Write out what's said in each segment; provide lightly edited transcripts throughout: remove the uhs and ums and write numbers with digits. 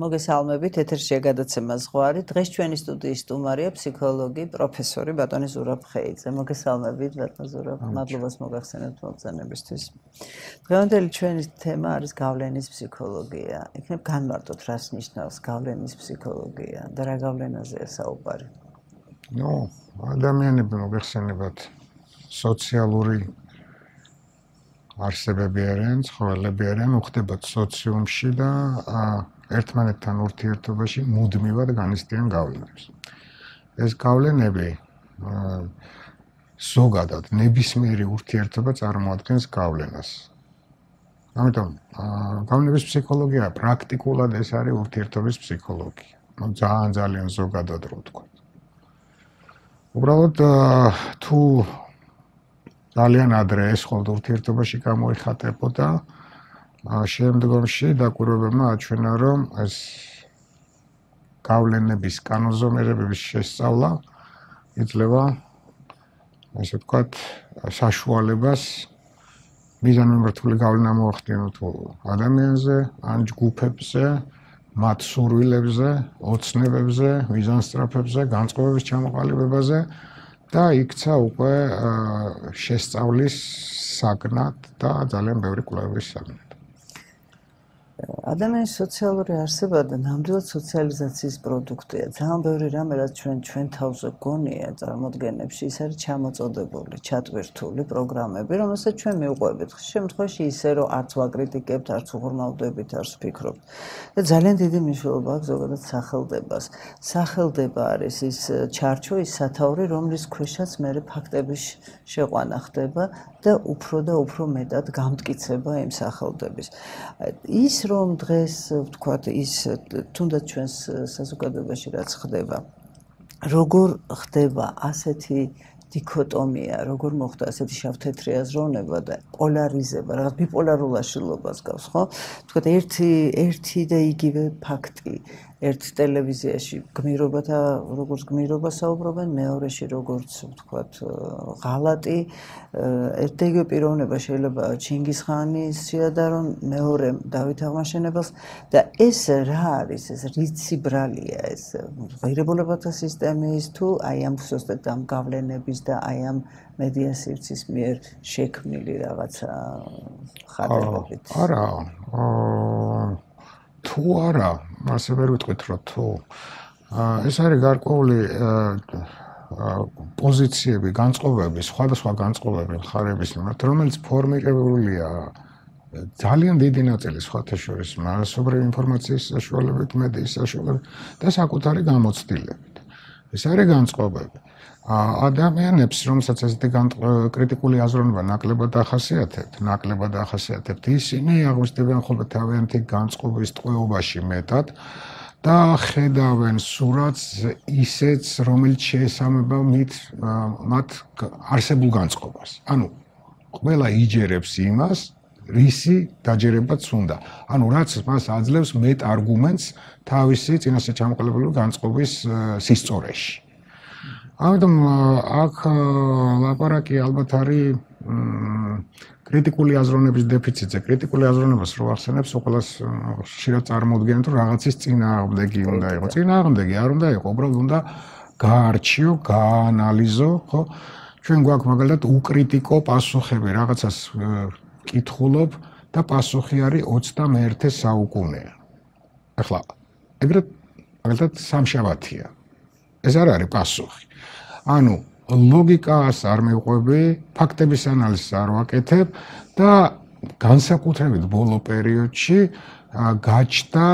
მოგესალმებით, ეთერშია გადაცემა ზღვარი. დღეს ჩვენი სტუდიის სტუმარია ფსიქოლოგი, პროფესორი ბატონი ზურაბ ხეიძე. მოგესალმებით, ბატონ ზურაბ, მადლობას მოგახსენებთ მოგზაურობისთვის. დღევანდელი ჩვენი თემა არის გავლენის ფსიქოლოგია. იქნებ განმარტოთ, რას ნიშნავს გავლენის ფსიქოლოგია და რა გავლენაზეა საუბარი. ადამიანები მოგახსენებათ სოციალური არსებები არიან, ცხოველები არიან, უხდებათ სოციუმში და ერთმანეთთან ურთიერთობაში მუდმივად განიცდიან გავლენებს. ეს გავლენები ზოგადად ნებისმიერი ურთიერთობა წარმოადგენს გავლენას. ამიტომ გავლენების ფსიქოლოგია პრაქტიკულად ეს არის ურთიერთობის ფსიქოლოგია. ძალიან ზოგადად რო ვთქვა. უბრალოდ თუ ძალიან ადრე ეს ხოლმე ურთიერთობაში გამოიხატებოდა შემდგომში დაკვირვებებმა აჩვენა, რომ ეს გავლენების კანონზომიერებების შესწავლა იძლევა ასე ვთქვათ საშუალებას მიზანმიმართული გავლენა მოახდინოთ ადამიანზე, ან ჯგუფებზე, მათ სურვილებზე, ოცნებებზე, მიზანსწრაფებზე, განწყობების ჩამოყალიბებაზე და იქცა უკვე შესწავლის საგნად და ძალიან ბევრი კვლევების საგნად. ადამიანის სოციალური არსება და ნამდვილად სოციალიზაციის პროდუქტია. ძალიან ბევრი რამე, რაც ჩვენ თავზე გონია წარმოდგენებში, ის არის ჩამოწოდებული, ჩატვირთული პროგრამები, რომელსაც ჩვენ მივყვებით. ხშირ შემთხვევაში ისე, რომ არც ვაკრიტიკებთ, არც უღრმავდებით, არც ვფიქრობთ. და ძალიან დიდი მნიშვნელობა აქვს ზოგადად სახელდებას. სახელდება არის ის ჩარჩო, ის სათაური, რომლის ქვეშაც მერე ფაქტების შეყვანა ხდება და უფრო მეტად გამტკიცება იმ სახელდების. ის რომ დღეს ვთქვათ ის თუნდაც ჩვენს საზოგადოებაში რაც ხდება როგორ ხდება ასეთი დიქოტომია როგორ მოხდა ასეთი შავ-თეთრი აზროვნება და პოლარიზება რაღაც ბიპოლარულაშილობას გავს ხო ვთქვათ ერთი და იგივე ფაქტი ერთ ტელევიზიაში გმირობათა როგორც გმირობა საუბრობენ მეორეში როგორც ვთქვათ ღალატი ერთ და იგივე პიროვნება შეიძლება ჩინგისხანის შეადარონ მეორე დავით აღმაშენებელს და ეს რა არის ეს რიცი ბრალია ეს ღირებულებათა სისტემის თუ აი ამ ზუსტად ამ გავლენების და აი ამ მედია სივრცის მიერ შექმნილი რაღაცა ხარებებით არა თუ არა ასე ვერ ვიტყვით რომ თუ ეს არის გარკვეული პოზიციები, განწყობები, სხვადასხვა განწყობები მხარების მიმართ, რომელიც ფორმირებულია ძალიან დიდი ნაწილი სხვათა შორის მასობრივი ინფორმაციის საშუალებით, მედიის საშუალებით და საკუთარი გამოცდილებით. ეს არის განწყობები. ადამიანებს, რომელსაც ესეთი კრიტიკული აზროვნება ნაკლებად ახასიათებთ, ისინი აღმოჩნდებიან ხოლმე თავიანთი განწყობის ტყვეობაში მეტად და ხედავენ სურათს ისეც, რომელიც შეესაბამება მათ არსებულ განწყობას. ანუ ყველა იჯერებს იმას, რისი დაჯერებაც უნდა. ანუ რაც მას აძლევს მეტ არგუმენტს თავისი წინასწარ ჩამოყალიბებული განწყობის სისწორეში. ამიტომ აქ ლაპარაკი ალბათ არის კრიტიკული აზროვნების დეფიციტზე. კრიტიკული აზროვნებას რო ახსენებს, ყველას ხშირად წარმოუდგენთ, რომ რაღაცის წინააღმდეგი უნდა იყოს. წინააღმდეგი არ უნდა იყოს, უბრალოდ უნდა გაარჩიო, გაანალიზო, ხო? ჩვენ გვაქვს მაგალითად უკრიტიკო პასუხები, რაღაცას კითხულობ და პასუხი არის 21 საუკუნეა. ახლა ეგრეთ მაგალითად სამშაბათია. ეს არ არის პასუხი. ანუ ლოგიკას არ მივყვები, ფაქტების ანალიზს არ ვაკეთებ და განსაკუთრებით ბოლო პერიოდში გაჩნდა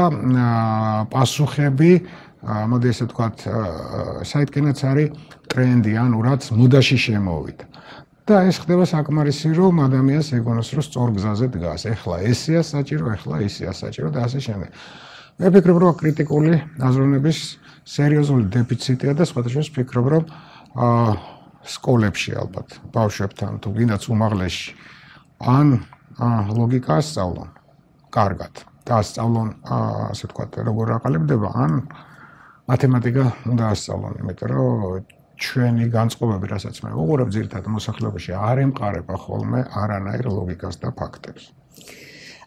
პასუხები, მოდი ესე ვთქვათ, საიდკენაც არის ტრენდი, ანუ რაც მოდაში შემოვიდა. და ეს ხდება საკმარისი, რომ ადამიანს ეგონოს, რომ სწორ გზაზე დგას. ეხლა ესეა საჭირო, ეხლა ისეა საჭირო და ასე შემდეგ. მე ვფიქრობ, რომ კრიტიკული აზროვნების სერიოზული დეფიციტია და სხვადასხვა ვფიქრობ, რომ სკოლებში ალბათ ბავშვებთან თუ გინდაც უმაღლესში ან ლოგიკა ასწავლონ კარგად და ასწავლონ ასე ვთქვათ როგორ აყალიბდება ან მათემატიკა უნდა ასწავლონ იმიტომ რომ ჩვენი განწყობები რასაც მე ვუყურებ ძირითადად მოსახლეობაში არ ემყარება ხოლმე არანაირ ლოგიკას და ფაქტებს.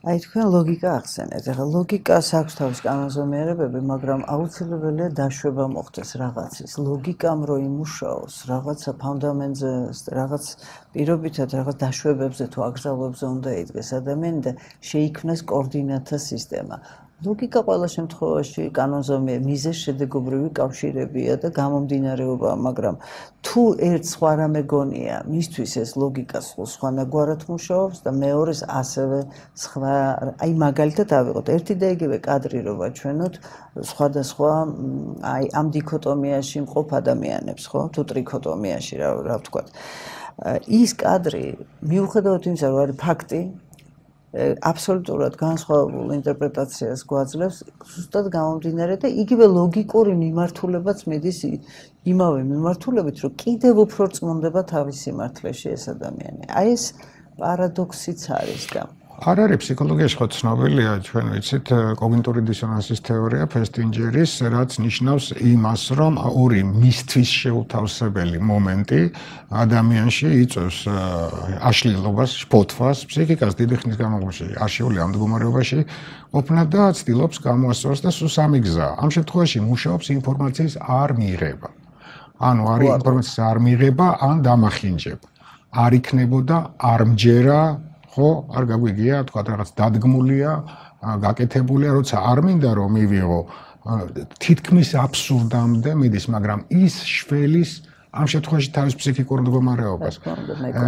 აი თქვენ ლოგიკა ახსენეთ. ეხლა ლოგიკას აქვს თავის კანონზომიერებები, მაგრამ აუცილებელია დაშვება მოხდეს რაღაცის. ლოგიკამ რო იმუშაოს, რაღაცა ფუნდამენტზე, რაღაც პირობითად რაღაც დაშვებებზე თუ აკრძალვებზე უნდა იდგეს ადამიანი და შეიქმნას კოორდინატთა სისტემა. ლოგიკა ყველა შემთხვევაში კანონზომიერ მიზეზ-შედეგობრივი კავშირებია და გამომდინარეობა, მაგრამ თუ ერთ სხვა რამე გონია, მისთვის ეს ლოგიკა სხვანაგვარად მუშაობს და მეორეს ასევე სხვა, აი მაგალითად ავიღოთ, ერთი და იგივე კადრი რო ვაჩვენოთ სხვადასხვა აი ამ დიქოტომიაში მყოფ ადამიანებს, ხო? თუ ტრიქოტომიაში რა ვთქვათ. ის კადრი მიუხედავად იმისა, რომ არის ფაქტი, აბსოლუტურად განსხვავებულ ინტერპრეტაციას გვაძლევს, ზუსტად გამომდინარე და იგივე ლოგიკური მიმართულებაც მიდის იმავე მიმართულებით, რომ კიდევ უფრო რწმუნდება თავის სიმართლეში ეს ადამიანი. აი ეს პარადოქსიც არის და არ არის ფსიქოლოგიაში ხო ცნობილია, ჩვენ ვიცით, კოგნიტური დისონანსის თეორია ფესტინჯერის, რაც ნიშნავს იმას, რომ ორი მისთვის შეუთავსებელი მომენტი ადამიანში იწვევს აშლილობას, შფოთვას, ფსიქიკას დიდი ხნის განმავლობაში არჩეული ამ მდგომარეობაში ყოფნა და ცდილობს გამოასწოროს და სულ სამი გზა. ამ შემთხვევაში მუშაობს ინფორმაციის არ მიღება. ანუ არის ინფორმაციის არ მიღება, ან დამახინჯება. არ იქნებოდა, არ მჯერა ხო, არ გაგვიგია, თქვა რაღაც დადგმულია, გაკეთებულია, როცა არ მინდა რომ მივიღო, თითქმის აბსურდამდე მიდის, მაგრამ ის შველის ამ შემთხვევაში თავის ფსიქიკურ მდგომარეობას.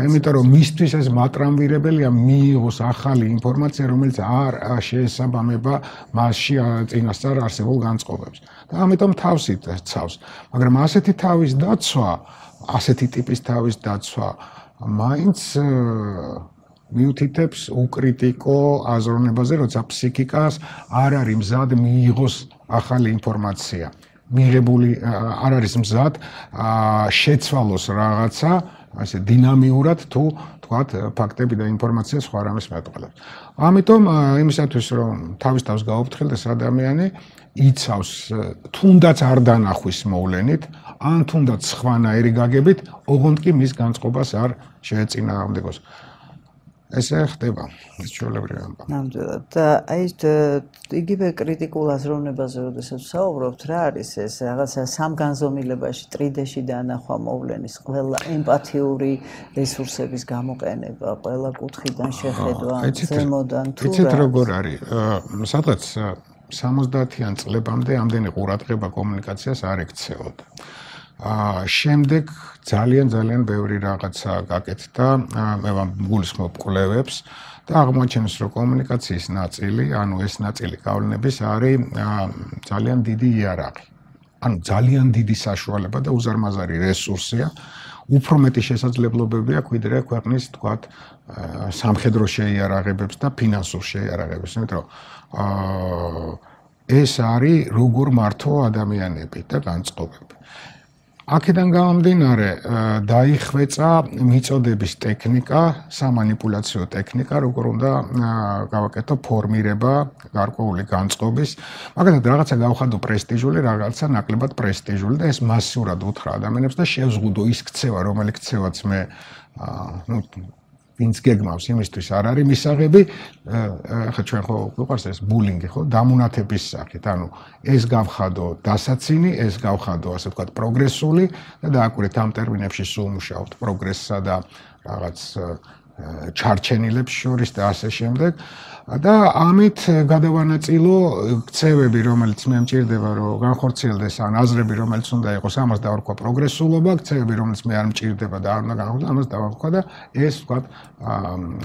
იმიტომ რომ მისთვის ეს მატრამვირებელია მიიღოს ახალი ინფორმაცია, რომელიც არ შეესაბამება მასში წინასწარ არსებულ განწყობებს. და ამიტომ თავსით ცავს. მაგრამ ასეთი თავის დაცვა, ასეთი ტიპის თავის დაცვა მაინც მიუთითებს უკრიტიკო აზროვნებაზე, როცა ფსიქიკას არ არის მზად მიიღოს ახალი ინფორმაცია. მიღებული არ არის მზად შეცვალოს რაღაცა, ასე დინამიურად თუ თქვათ ფაქტები და ინფორმაცია სხვა რამეს მეტყველებს. ამიტომ იმისათვის რომ თავის თავს გაუფრთხილდეს ადამიანი იცავს თუნდაც არ დანახვის მოვლენით, ან თუნდაც სხვანაირი გაგებით, ოღონდ კი მის განწყობას არ შეეწინააღმდეგოს. ესე ხდება, ეს ჩვეულებრივი ამბავი. ნამდვილად. და აი იგივე კრიტიკულ აზროვნებაზე, როდესაც ვსაუბრობთ, რა არის ეს რაღაცა სამგანზომილებაში, ტრიდეში დანახვა მოვლენის, ყველა ემპათიური რესურსების გამოყენება, ყველა კუთხიდან შეხედვა, ზემოდან თუ რა. იცით როგორ არის? სადღაც 70-იან წლებამდე ამდენი ყურადღება კომუნიკაციას არ ექცეოდა. შემდეგ ძალიან ბევრი რაღაცა გაკეთდა, მე გულისხმობ კვლევებს და აღმოაჩენს, რომ კომუნიკაციის ნაწილი, ანუ ეს ნაწილი გავლენების არის ძალიან დიდი იარაღი. ანუ ძალიან დიდი საშუალება და უზარმაზარი რესურსია, უფრო მეტი შესაძლებლობები აქვს, ვიდრე ქვეყნის, თქვათ, სამხედრო შეიარაღებებს და ფინანსურ შეიარაღებებს, იმიტომ რომ ეს არის როგორ მართო ადამიანები და განწყობები. აქედან გამომდინარე დაიხვეწა მიწოდების ტექნიკა, სამანიპულაციო ტექნიკა, როგორ უნდა გავაკეთო ფორმირება გარკვეული განწყობის, მაგალითად რაღაცა გავხადო პრესტიჟული, რაღაცა ნაკლებად პრესტიჟული და ეს მასიურად უთხრა ადამიანებს და შევზღუდო ის ქცევა, რომელიც ქცევაც მე ვინც გეგმავს იმისთვის არ არის მისაღები, ახლა ჩვენ ხო გვიყვარს ეს ბულინგი, ხო, დამუნათების სახით, ანუ ეს გავხადო დასაცინი, ეს გავხადო, ასე ვთქვათ, პროგრესული და დააკვირდით ამ ტერმინებში სულ მუშაობთ პროგრესსა და რაღაც ჩარჩენილებს შორის და ასე შემდეგ. და ამით გადავანაწილო ქცევები, რომელიც მე მჭირდება, რომ განხორციელდეს, ან აზრები, რომელიც უნდა იყოს, ამას დავარქვა პროგრესულობა, ქცევები, რომელიც მე არ მჭირდება და არ უნდა განხორციელდეს, ამას დავარქვა და ეს, ვთქვათ,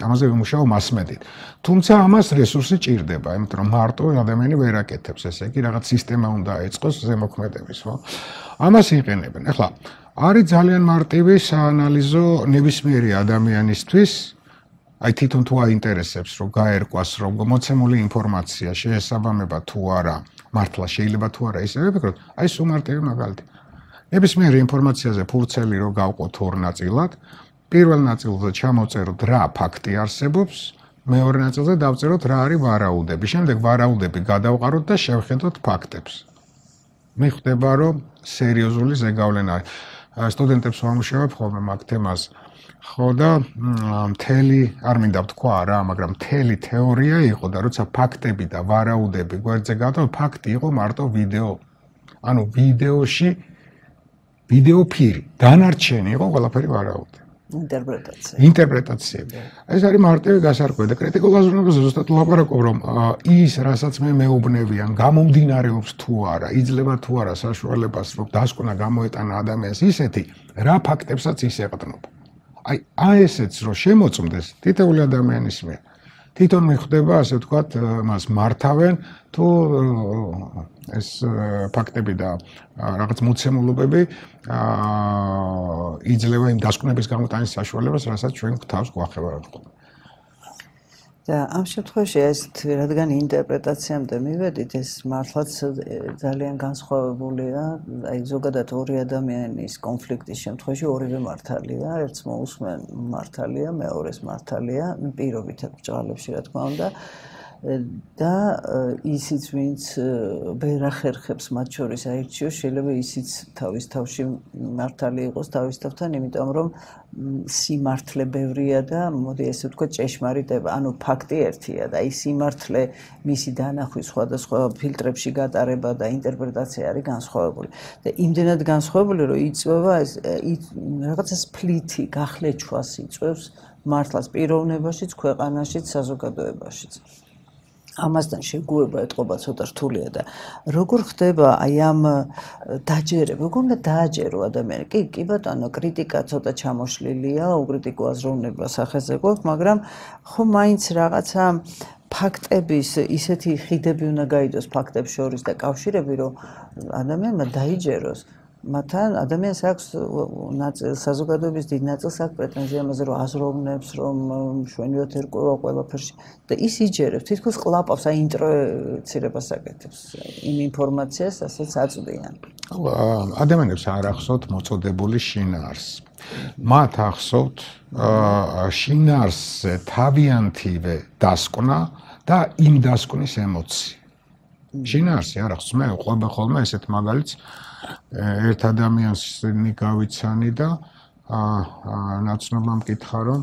ამაზე ვიმუშაო მასმედით. თუმცა ამას რესურსი ჭირდება, იმიტომ რომ მარტო ადამიანი ვერ აკეთებს, ესე იგი, რაღაც სისტემა უნდა ეწყოს ზემოქმედების, ხო? ამას იყენებენ. ახლა არის ძალიან მარტივი საანალიზო ნებისმიერი ადამიანისთვის, აი თვითონ თუ აინტერესებს, რომ გაერკვას, რომ მოცემული ინფორმაცია შეესაბამება თუ არა, მართლა შეიძლება თუ არა ისე ვიფიქროთ, აი სულ მარტივი მაგალითი. ნებისმიერი ინფორმაციაზე ფურცელი რო გავყოთ ორ ნაწილად, პირველ ნაწილზე ჩამოვწეროთ რა ფაქტი არსებობს, მეორე ნაწილზე დავწეროთ რა არის ვარაუდები. შემდეგ ვარაუდები გადავყაროთ და შევხედოთ ფაქტებს. მიხვდება, რომ სერიოზული ზეგავლენა არის. სტუდენტებს ვამუშავებ ხოლმე მაგ თემას. ხო და მთელი არ მინდა ვთქვა რა, მაგრამ მთელი თეორია იყო და როცა ფაქტები და ვარაუდები გვერდზე გადავ, ფაქტი იყო მარტო ვიდეო. ანუ ვიდეოში ვიდეო ფირი, დანარჩენი იყო ყველაფერი ვარაუდი. ინტერპრეტაციები. ეს არის მარტივი გასარკვევი და კრიტიკულ აზროვნებაზე ზუსტად ვლაპარაკობ, რომ ის, რასაც მე მეუბნევიან, გამომდინარეობს თუ არა, იძლევა თუ არა საშუალებას, რომ დასკვნა გამოეტანა ადამიანს ისეთი, რა ფაქტებსაც ის ეყრდნობა. აი ესეც რო შემოწმდეს თითოეული ადამიანის მიერ. თვითონ მიხვდება, ასე ვთქვათ, მას მართავენ თუ ეს ფაქტები და რაღაც მოცემულობები იძლევა იმ დასკვნების გამოტანის საშუალებას, რასაც ჩვენ გვთავს გვახევარებთ. და ამ შემთხვევაში ეს რადგან ინტერპრეტაციამდე მივედით, ეს მართლაც ძალიან განსხვავებულია. აი ზოგადად ორი ადამიანის კონფლიქტის შემთხვევაში ორივე მართალია, ერთს მოусმენ მართალია, მეორეს მართალია, პირობით ბჭყალებში რა თქმა უნდა. და ისიც ვინც ვერ ახერხებს მათ შორის აირჩიოს, შეიძლება ისიც თავის თავში მართალი იყოს თავის თავთან, იმიტომ რომ სიმართლე ბევრია და მოდი ესე ვთქვათ ჭეშმარიტება, ანუ ფაქტი ერთია და ის სიმართლე მისი დანახვის სხვადასხვა ფილტრებში გატარება და ინტერპრეტაცია არის განსხვავებული. და იმდენად განსხვავებული, რომ იწვევა ეს რაღაცა სპლითი, გახლეჩვას იწვევს მართლაც პიროვნებაშიც, ქვეყანაშიც, საზოგადოებაშიც. ამასთან შეგუება ეთყობა ცოტა რთულია და როგორ ხდება აი ამ დაჯერება, როგორ უნდა დააჯერო ადამიანი? კი ბატონო, კრიტიკა ცოტა ჩამოშლილია, უკრიტიკო აზროვნება სახეზე გვაქვს, მაგრამ ხო მაინც რაღაცა ფაქტების ისეთი ხიდები უნდა გაიდოს ფაქტებს შორის და კავშირები, რომ ადამიანმა დაიჯეროს. მათთან ადამიანს აქვს საზოგადოების დიდ ნაწილს აქვს პრეტენზია ამაზე, რომ აზროვნებს, რომ მშვენივრად ერკვევა ყველაფერში და ის იჯერებს, თითქოს ყლაპავს, აი ინტროეცირებას აკეთებს იმ ინფორმაციას, ასაც აწვდიან. ადამიანებს არ ახსოვთ მოწოდებული შინაარს. მათ ახსოვთ შინაარსზე თავიანთივე დასკვნა და იმ დასკვნის ემოცია. შინაარსი არ ახსოვს, მე ყვება ხოლმე ესეთ მაგალითს ერთ ადამიანს გავიცანი და ნაცნობამ მკითხა, რომ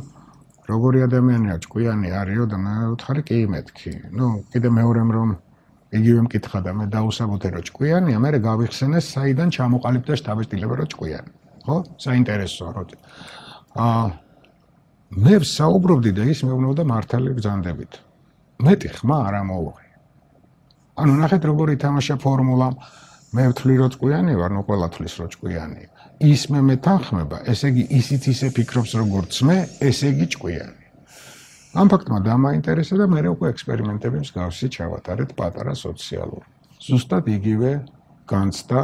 როგორი ადამიანია, ჭკვიანი არისო და მე ვთხარი, კი მეთქი. კიდე მეორემ რომ იგივე მკითხა და მე დაუსაბუთე, რომ ჭკვიანია, მე გავიხსენე საიდან ჩამოყალიბდა შთაბეჭდილება, რომ ჭკვიანი. ხო? საინტერესოა, რომ მე ვსაუბრობდი და ის მეუბნებოდა მართალი ბრძანდებით. მეტი ხმა არ ამოვიღე. ანუ ნახეთ როგორ ითამაშა ფორმულა. მე ვთვლი რომ ჭკვიანი ვარ, ნუ ყველა თვლის რომ ჭკვიანია. ის მე მეთანხმება, ესე იგი ისიც ისე ფიქრობს როგორც მე, ესე იგი ჭკვიანი. ამ ფაქტმა დამაინტერესა და მე უკვე ექსპერიმენტები მსგავსი ჩავატარეთ პატარა სოციალურ. ზუსტად იგივე განცდა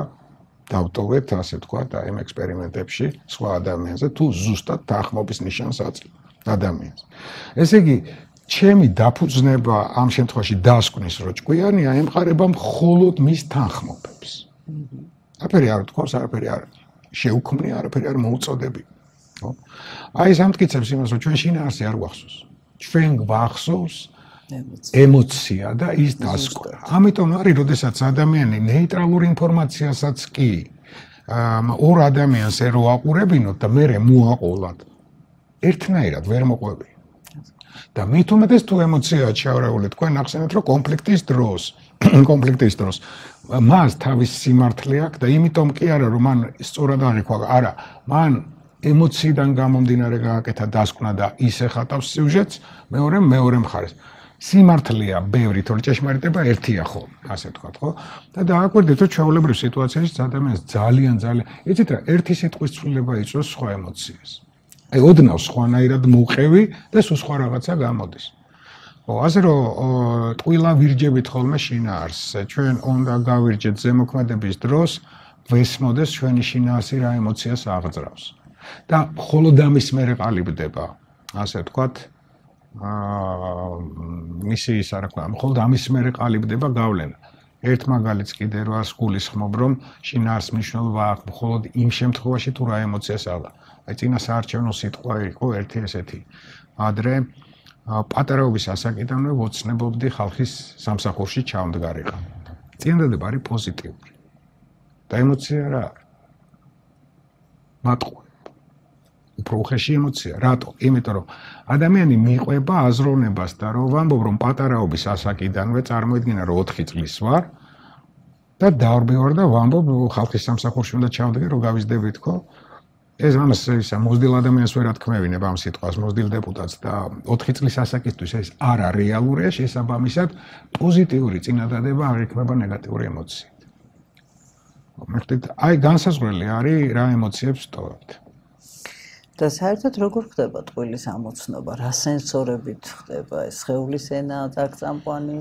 დავტოვეთ, ასე ვთქვათ, აი ამ ექსპერიმენტებში სხვა ადამიანზე თუ ზუსტად თანხმობის ნიშანს აძლევ ადამიანს. ესე იგი ჩემი დაფუძნება ამ შემთხვევაში დასკვნის, რომ ჭკვიანია, ემყარება მხოლოდ მის თანხმობებს. არაფერი არ თქვავს, არაფერი არ შეუქმნი, არაფერი არ მოუწოდები. ხო? აი ეს ამტკიცებს იმას, რომ ჩვენ შინაარსი არ გვახსოვს. ჩვენ გვახსოვს ემოცია და ის დასკვნა. ამიტომ არის, როდესაც ადამიანი ნეიტრალურ ინფორმაციასაც კი ორ ადამიანს ერო აყურებინოთ და მე მოაყოლად, ერთნაირად ვერ მოყვები. და მით უმეტეს თუ ემოციაა ჩაურეული, თქვენ ახსენეთ, რომ კონფლიქტის დროს მას თავის სიმართლე აქვს და იმიტომ კი არა, რომ მან სწორად აღიქვა, არა, მან ემოციიდან გამომდინარე გააკეთა დასკვნა და ის ეხატავს სიუჟეტს, მეორე მხარეს. სიმართლეა ბევრი, თორე ჭეშმარიტება ერთია ხოლმე, ასე ვთქვათ, ხო? და დააკვირდით, რომ ჩვეულებრივ სიტუაციაში ადამიანს ძალიან იცით რა, ერთი სიტყვის ცვლილება იწვევს სხვა ემოციას. აი ოდნავ სხვანაირად მოყევი და სხვა რაღაცა გამოდის. ხო, ასე რომ ტყუილა ვირჯებით ხოლმე შინაარსზე. ჩვენ უნდა გავირჯეთ ზემოქმედების დროს, ვესმოდეს ჩვენი შინაარსი რა ემოციას აღძრავს. და მხოლოდ ამის მერე ყალიბდება, ასე ვთქვათ, მისი ის არა ქვია, მხოლოდ ამის მერე ყალიბდება გავლენა. ერთ მაგალითს კიდე რას გულისხმობ, რომ შინაარს მნიშვნელობა აქვს მხოლოდ იმ შემთხვევაში, თუ რა ემოციას აღდა. აი წინა საარჩევნო სიტყვა იყო ერთი ესეთი. ადრე პატარაობის ასაკიდანვე ვოცნებობდი ხალხის სამსახურში ჩამდგარიყო. წინადადება არის პოზიტიური. და ემოცია რა არის? მატყუე. უფრო უხეში ემოცია. რატო? იმიტომ რომ ადამიანი მიყვება აზროვნებას და რომ ვამბობ რომ პატარაობის ასაკიდანვე წარმოიდგინა რომ 4 წლის ვარ და დავრბევარ და ვამბობ ხალხის სამსახურში უნდა ჩავდგე რომ გავიზდები თქო. ეს ამას ისა მოზრდილ ადამიანს ვერ ათქმევინებ ამ სიტყვას, მოზრდილ დეპუტატს და 4 წლის ასაკისთვის ეს არა რეალურია, შესაბამისად პოზიტიური წინადადება არ იქნება ნეგატიური ემოციით. მერტით აი განსაზღვრელი არის რა ემოციებს ვტოვებთ. და საერთოდ როგორ ხდება ტყუილის ამოცნობა, რა სენსორებით ხდება ეს სხეულის ენა, წამყვანი,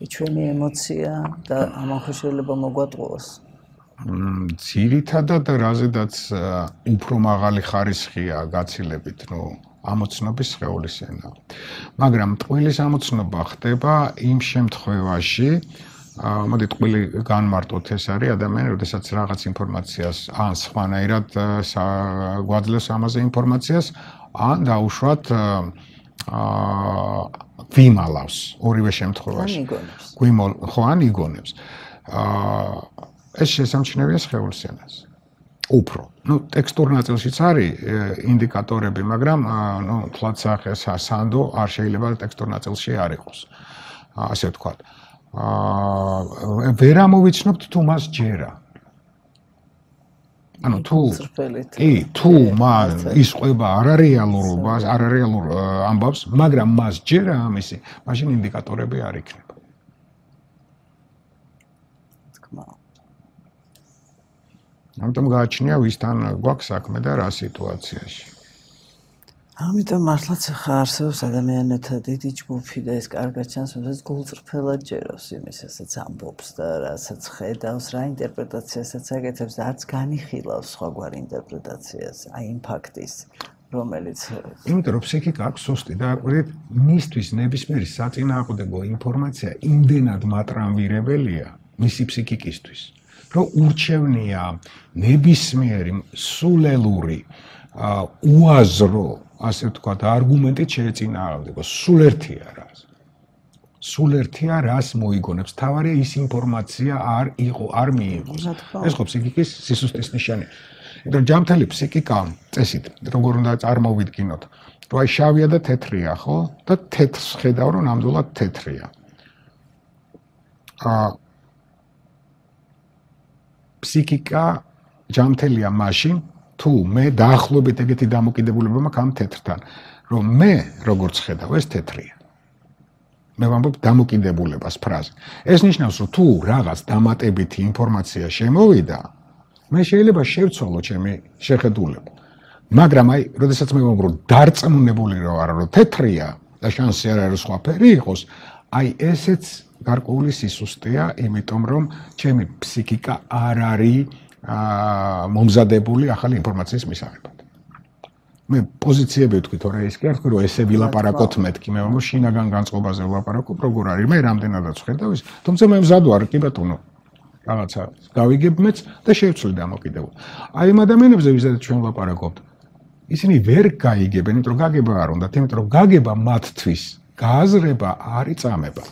ჩვენი ემოცია და ამან ხო შეიძლება მოგვატყუოს. ძირითადად რაზედაც უფრო მაღალი ხარისხია გაცილებით, ამოცნობის სხეულის ენა. მაგრამ ტყუილის ამოცნობა ხდება იმ შემთხვევაში, მოდით ტყუილი განმარტოთ, ეს არის ადამიანი, როდესაც რაღაც ინფორმაციას ან სხვანაირად გვაძლევს ამაზე ინფორმაციას, ან დაუშვათ გვიმალავს ორივე შემთხვევაში. ხო, ან იგონებს. ეს შესამჩნევია სხეულის ენაზე. უფრო. ტექსტურ ნაწილშიც არის ინდიკატორები, მაგრამ თლად სანდო არ შეიძლება ტექსტურ ნაწილში არ იყოს. ასე ვთქვათ. ვერ ამოვიცნობთ თუ მას ჯერა. ანუ თუ მან ისყვება არარეალურობას, არარეალურ ამბავს, მაგრამ მას ჯერა ამისი, მაშინ ინდიკატორები არ იქნება. ამიტომ გააჩნია ვისთან გვაქვს საქმე და რა სიტუაციაში. ამიტომ მართლაც ხა არსებობს ადამიანთა დიდი ჯგუფი და ეს კარგად ჩანს, რომ გულწრფელად ჯეროს იმის, რასაც ამბობს და რასაც ხედავს, რა ინტერპრეტაციასაც აკეთებს და არც განიხილავს სხვაგვარ ინტერპრეტაციას, აი იმ ფაქტის, რომელიც იმიტომ რომ ფსიქიკა აქვს სუსტი და აკვირდით, მისთვის ნებისმიერი საწინააღმდეგო ინფორმაცია იმდენად მატრამვირებელია მისი ფსიქიკისთვის. რომ ურჩევნია ნებისმიერი სულელური უაზრო, ასე ვთქვათ, არგუმენტით შეეწინააღმდეგოს. სულ ერთია რას. სულ ერთია რას მოიგონებს. თავარია ის ინფორმაცია არ მიიღოს. ეს ხო ფსიქიკის სისუსტის ნიშანია. იმიტომ რომ ჯანმრთელი ფსიქიკა წესით, როგორ უნდა წარმოვიდგინოთ, რომ აი შავია და თეთრია, ხო? და თეთრს ხედავ, რომ ნამდვილად თეთრია. ფსიქიკა ჯანმრთელია მაშინ, თუ მე დაახლოებით ეგეთი დამოკიდებულება მაქვს ამ თეთრთან, რომ მე როგორც ხედავ, ეს თეთრია. მე ვამბობ დამოკიდებულებას ფრაზე. ეს ნიშნავს, რომ თუ რაღაც დამატებითი ინფორმაცია შემოვიდა, მე შეიძლება შევცვალო ჩემი შეხედულება. მაგრამ აი, როდესაც მე ვამბობ, რომ დარწმუნებული რა ვარ, რომ თეთრია და შანსი არ არის სხვა ფერი იყოს, აი ესეც გარკვეული სისუსტეა, იმიტომ რომ ჩემი ფსიქიკა არ არის მომზადებული ახალი ინფორმაციის მისაღებად. მე პოზიციები ვთქვით, რომ ეს კი არ ვთქვი, რომ ესე ვილაპარაკოთ მეთქი, მე ვამბობ შინაგან განწყობაზე ვილაპარაკობ, როგორ არის, მე რამდენადაც ხედავ ის, თუმცა მე მზად ვარ, კი ბატონო. რაღაცა გავიგებ მეც და შევცვლი დამოკიდებულ. აი იმ ადამიანებზე, ვისაც ჩვენ ვლაპარაკობთ, ისინი ვერ გაიგებენ, იმიტომ რომ გაგება არ უნდათ, იმიტომ რომ გაგება მათთვის გააზრება არის წამება.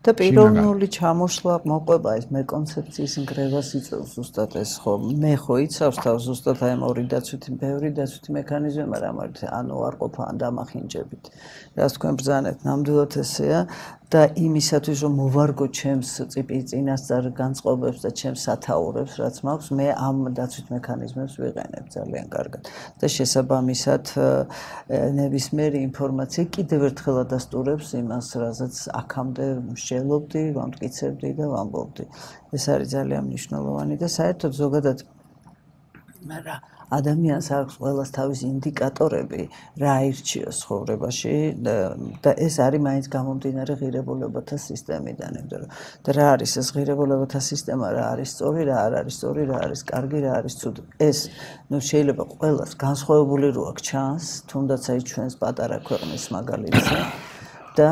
და პიროვნული ჩამოშლა მოყვება ეს მე კონცეფციის ნგრევას იწევს ზუსტად ეს ხო მე ხო იცავს თავს ზუსტად აი ამ ორი დაცვითი ბევრი დაცვითი მექანიზმი მაგრამ ანუ არ ყოფა ან დამახინჯებით რას თქვენ ბრძანებთ ნამდვილად ესეა და იმისათვის რომ მოვარგო ჩემს წინასწარ განწყობებს და ჩემს სათაურებს რაც მაქვს მე ამ დაცვით მექანიზმებს ვიყენებ ძალიან კარგად და შესაბამისად ნებისმიერი ინფორმაცია კიდევ ერთხელ ადასტურებს იმას რაზეც აქამდე შელობდი, ვამტკიცებდი და ვამბობდი. ეს არის ძალიან მნიშვნელოვანი და საერთოდ ზოგადად ადამიანს აქვს ყველას თავის ინდიკატორები რა აირჩიოს ცხოვრებაში და ეს არის მაინც გამომდინარე ღირებულებათა სისტემიდან, იმიტომ რომ და რა არის ეს ღირებულებათა სისტემა, რა არის სწორი, რა არ არის სწორი, რა არის კარგი, რა არის ცუდი. ეს შეიძლება ყველას განსხვავებული რო აქ ჩანს, თუნდაც აი ჩვენს პატარა ქვეყნის მაგალითზე. და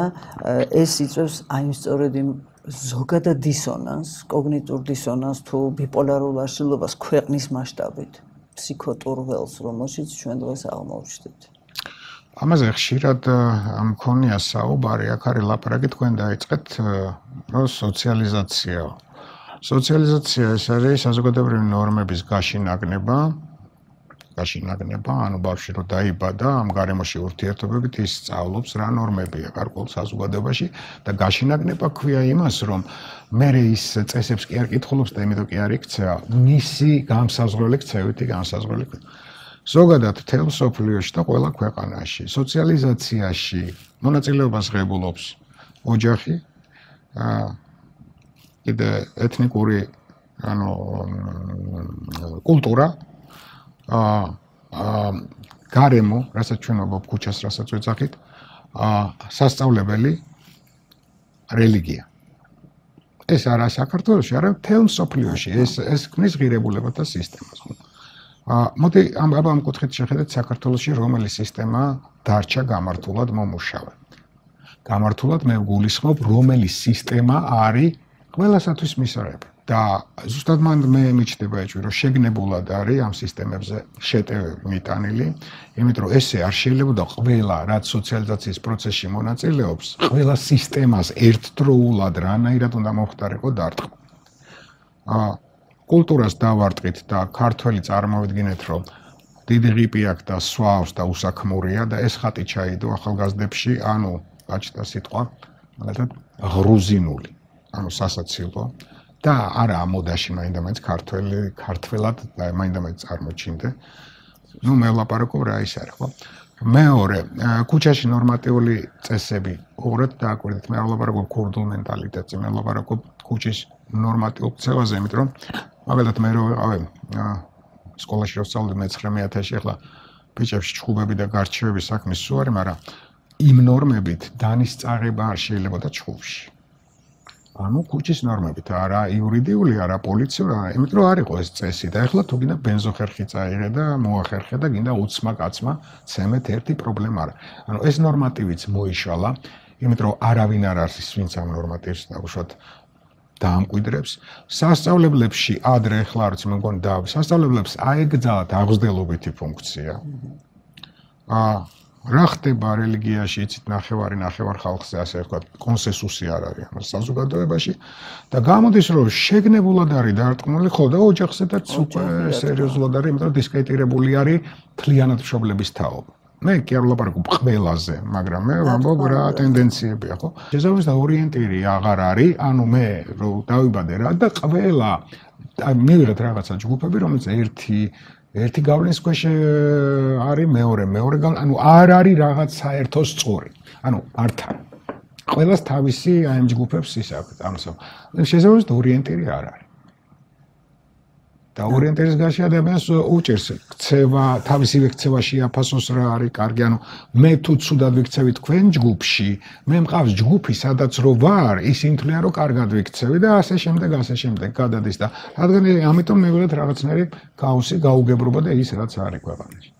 ეს იწვევს აი სწორედ იმ ზოგადად დისონანს, კოგნიტურ დისონანს თუ ბიპოლარულ აშლილობას ქვეყნის მასშტაბით, ფსიქოტურველს, რომელშიც ჩვენ დღეს აღმოვჩნდით. ამაზე ხშირად მქონია საუბარი, აქ არის ლაპარაკი თქვენ დაიწყეთ, რომ სოციალიზაცია. სოციალიზაცია ეს არის საზოგადოებრივი ნორმების გაშინაგნება გაშინაგნება, ანუ ბავშვი რო დაიბადა, ამ გარემოში ურთიერთობებით ის სწავლობს რა ნორმებია გარკვეულ საზოგადოებაში და გაშინაგნება ქვია იმას, რომ მე ის წესებს კი არ კითხულობს და იმიტომ კი არ იქცევა მისი გამსაზღვრელი ქცევითი განსაზღვრელი. ზოგადად თელ სოფლიოში და ყველა ქვეყანაში სოციალიზაციაში მონაწილეობას ღებულობს ოჯახი, კიდე ეთნიკური ანუ კულტურა, გარემო, რასაც ჩვენ ვამბობ ქუჩას, რასაც ვეძახით, სასწავლებელი, რელიგია. ეს არა საქართველოში, არა მთელ მსოფლიოში, ეს ქმნის ღირებულებათა სისტემას. მოდი ამ კუთხით შეხედეთ საქართველოში რომელი სისტემა დარჩა გამართულად მომუშავე. გამართულად მე ვგულისხმობ, რომელი სისტემა არის ყველასათვის მისაღები. და ზუსტად მე მიჩნდება ეჭვი, რომ შეგნებულად არის ამ სისტემებზე შეტევები მიტანილი, იმიტომ რომ ესე არ შეიძლება ყველა, რაც სოციალიზაციის პროცესში მონაწილეობს, ყველა სისტემას ერთდროულად რანაირად უნდა მომხდარიყო დარტყმა. კულტურას დავარტყით და ქართველი წარმოვიდგინეთ, რომ დიდი ღიპი აქვს და სვავს და უსაქმურია და ეს ხატი ჩაიდო ახალგაზრდებში, ანუ გაჩნდა სიტყვა, მაგალითად ღრუზინული, ანუ სასაცილო. და არა მოდაში მაინდა-მაინც ქართველად და მაინდა-მაინც წარმოჩინდე. ნუ მე ვლაპარაკობ რა ის არის, ხო? მეორე, ქუჩაში ნორმატიული წესები უბრალოდ დააკვირდით, მე ვლაპარაკობ ქურდულ მენტალიტეტზე, მე ვლაპარაკობ ქუჩის ნორმატიულ ქცევაზე, იმიტომ რომ მაგალითად მე რო ვიყავი სკოლაში რო ვსწავლობდი მე-9-1000-ში, ახლა ბიჭებში ჩხუბები და გარჩევების საქმე სულ არის, მაგრამ იმ ნორმებით დანისწარება არ შეიძლება და ჩხუბში. ანუ ქუჩის ნორმებით, არა იურიდიული, არა პოლიციური, იმიტომ რომ არ იყო ეს წესი და ეხლა თუ გინდა ბენზოხერხი წაიღე და მოახერხე და გინდა უცმა კაცმა ცემეთ ერთი პრობლემა არა. ანუ ეს ნორმატივიც მოიშალა, იმიტომ რომ არავინ არ არის ვინც ამ ნორმატივს დაუშვათ დაამკვიდრებს. სასწავლებლებში ადრე ეხლა არც მე მგონი სასწავლებლებს აეგზაათ აღზრდელობითი ფუნქცია. რა ხდება რელიგიაში, იცით, ნახევარ ხალხზე, ასე ვთქვათ, კონსენსუსი არ არის ამ საზოგადოებაში და გამოდის, რომ შეგნებულად არის დარტყმული, ხო და ოჯახზედაც უკვე სერიოზულად არის, იმიტომ რომ დისკრედიტირებული არის მთლიანად მშობლების თაობა. მე კი არ ვლაპარაკობ ყველაზე, მაგრამ მე ვამბობ რა ტენდენციებია, ხო? შესაბამისად ორიენტირი აღარ არის, ანუ მე რო დავიბადე რა და ყველა მივიღეთ რაღაცა ჯგუფები, რომელიც ერთი გავლენის ქვეშ არის, მეორე ანუ არ არის რაღაც საერთო სწორი. ანუ ართ არის. ყველას თავისი ამ ჯგუფებს ის აქვს, ამასო. შესაბამისად ორიენტირი არ არის. და ორიენტირის გარშე ადამიანს უჭერს ქცევა, თავისივე ქცევაში აფასოს რა არის კარგი, ანუ მე თუ ცუდად ვიქცევი თქვენ ჯგუფში, მე მყავს ჯგუფი, სადაც რო ვარ, ისინი თვლიან რომ კარგად ვიქცევი და ასე შემდეგ გადადის და რადგან ამიტომ მივიღეთ რაღაცნაირი ქაოსი, გაუგებრობა და ის რაც არის ქვეყანაში.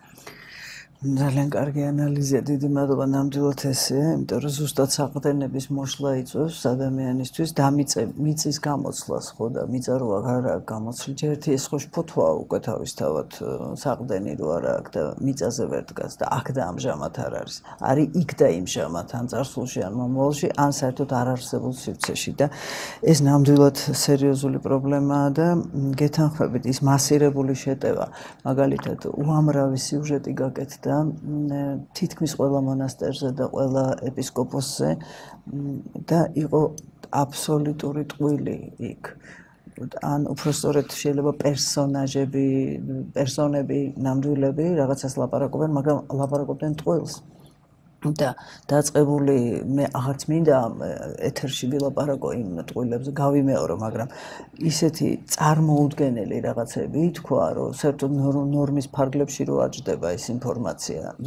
ძალიან კარგი ანალიზია, დიდი მადლობა ნამდვილად ესეა, იმიტომ რომ ზუსტად საყრდენების მოშლა იწვევს ადამიანისთვის მიწის გამოცვლას, ხო და მიწა რო აღარ აქვს გამოცვლი, ერთი ეს ხო შფოთვაა უკვე თავისთავად საყრდენი რო არ აქვს და მიწაზე ვერ დგას და აქ და ამჟამად არ არის. არის იქ და იმჟამად, ან წარსულში, ან მომავალში, ან საერთოდ არ არსებულ სივრცეში და ეს ნამდვილად სერიოზული პრობლემაა და გეთანხმებით ის მასირებული შეტევა, მაგალითად, უამრავი სიუჟეტი გაკეთდა თითქმის ყველა მონასტერზე და ყველა ეპისკოპოსზე და იყო აბსოლუტური ტყვილი იქ. ან უпростоრეთ შეიძლება პერსონები, ნამდვილები რაღაცას ლაპარაკობენ, მაგრამ ლაპარაკობდნენ ტყუილს. და დაწყებული მე აღარც მინდა ეთერში ვილაპარაკო იმ ტყუილებზე, გავიმეორო, მაგრამ ისეთი წარმოუდგენელი რაღაცები ითქვა, რომ საერთოდ ნორმის ფარგლებში რო აჯდება ეს ინფორმაცია,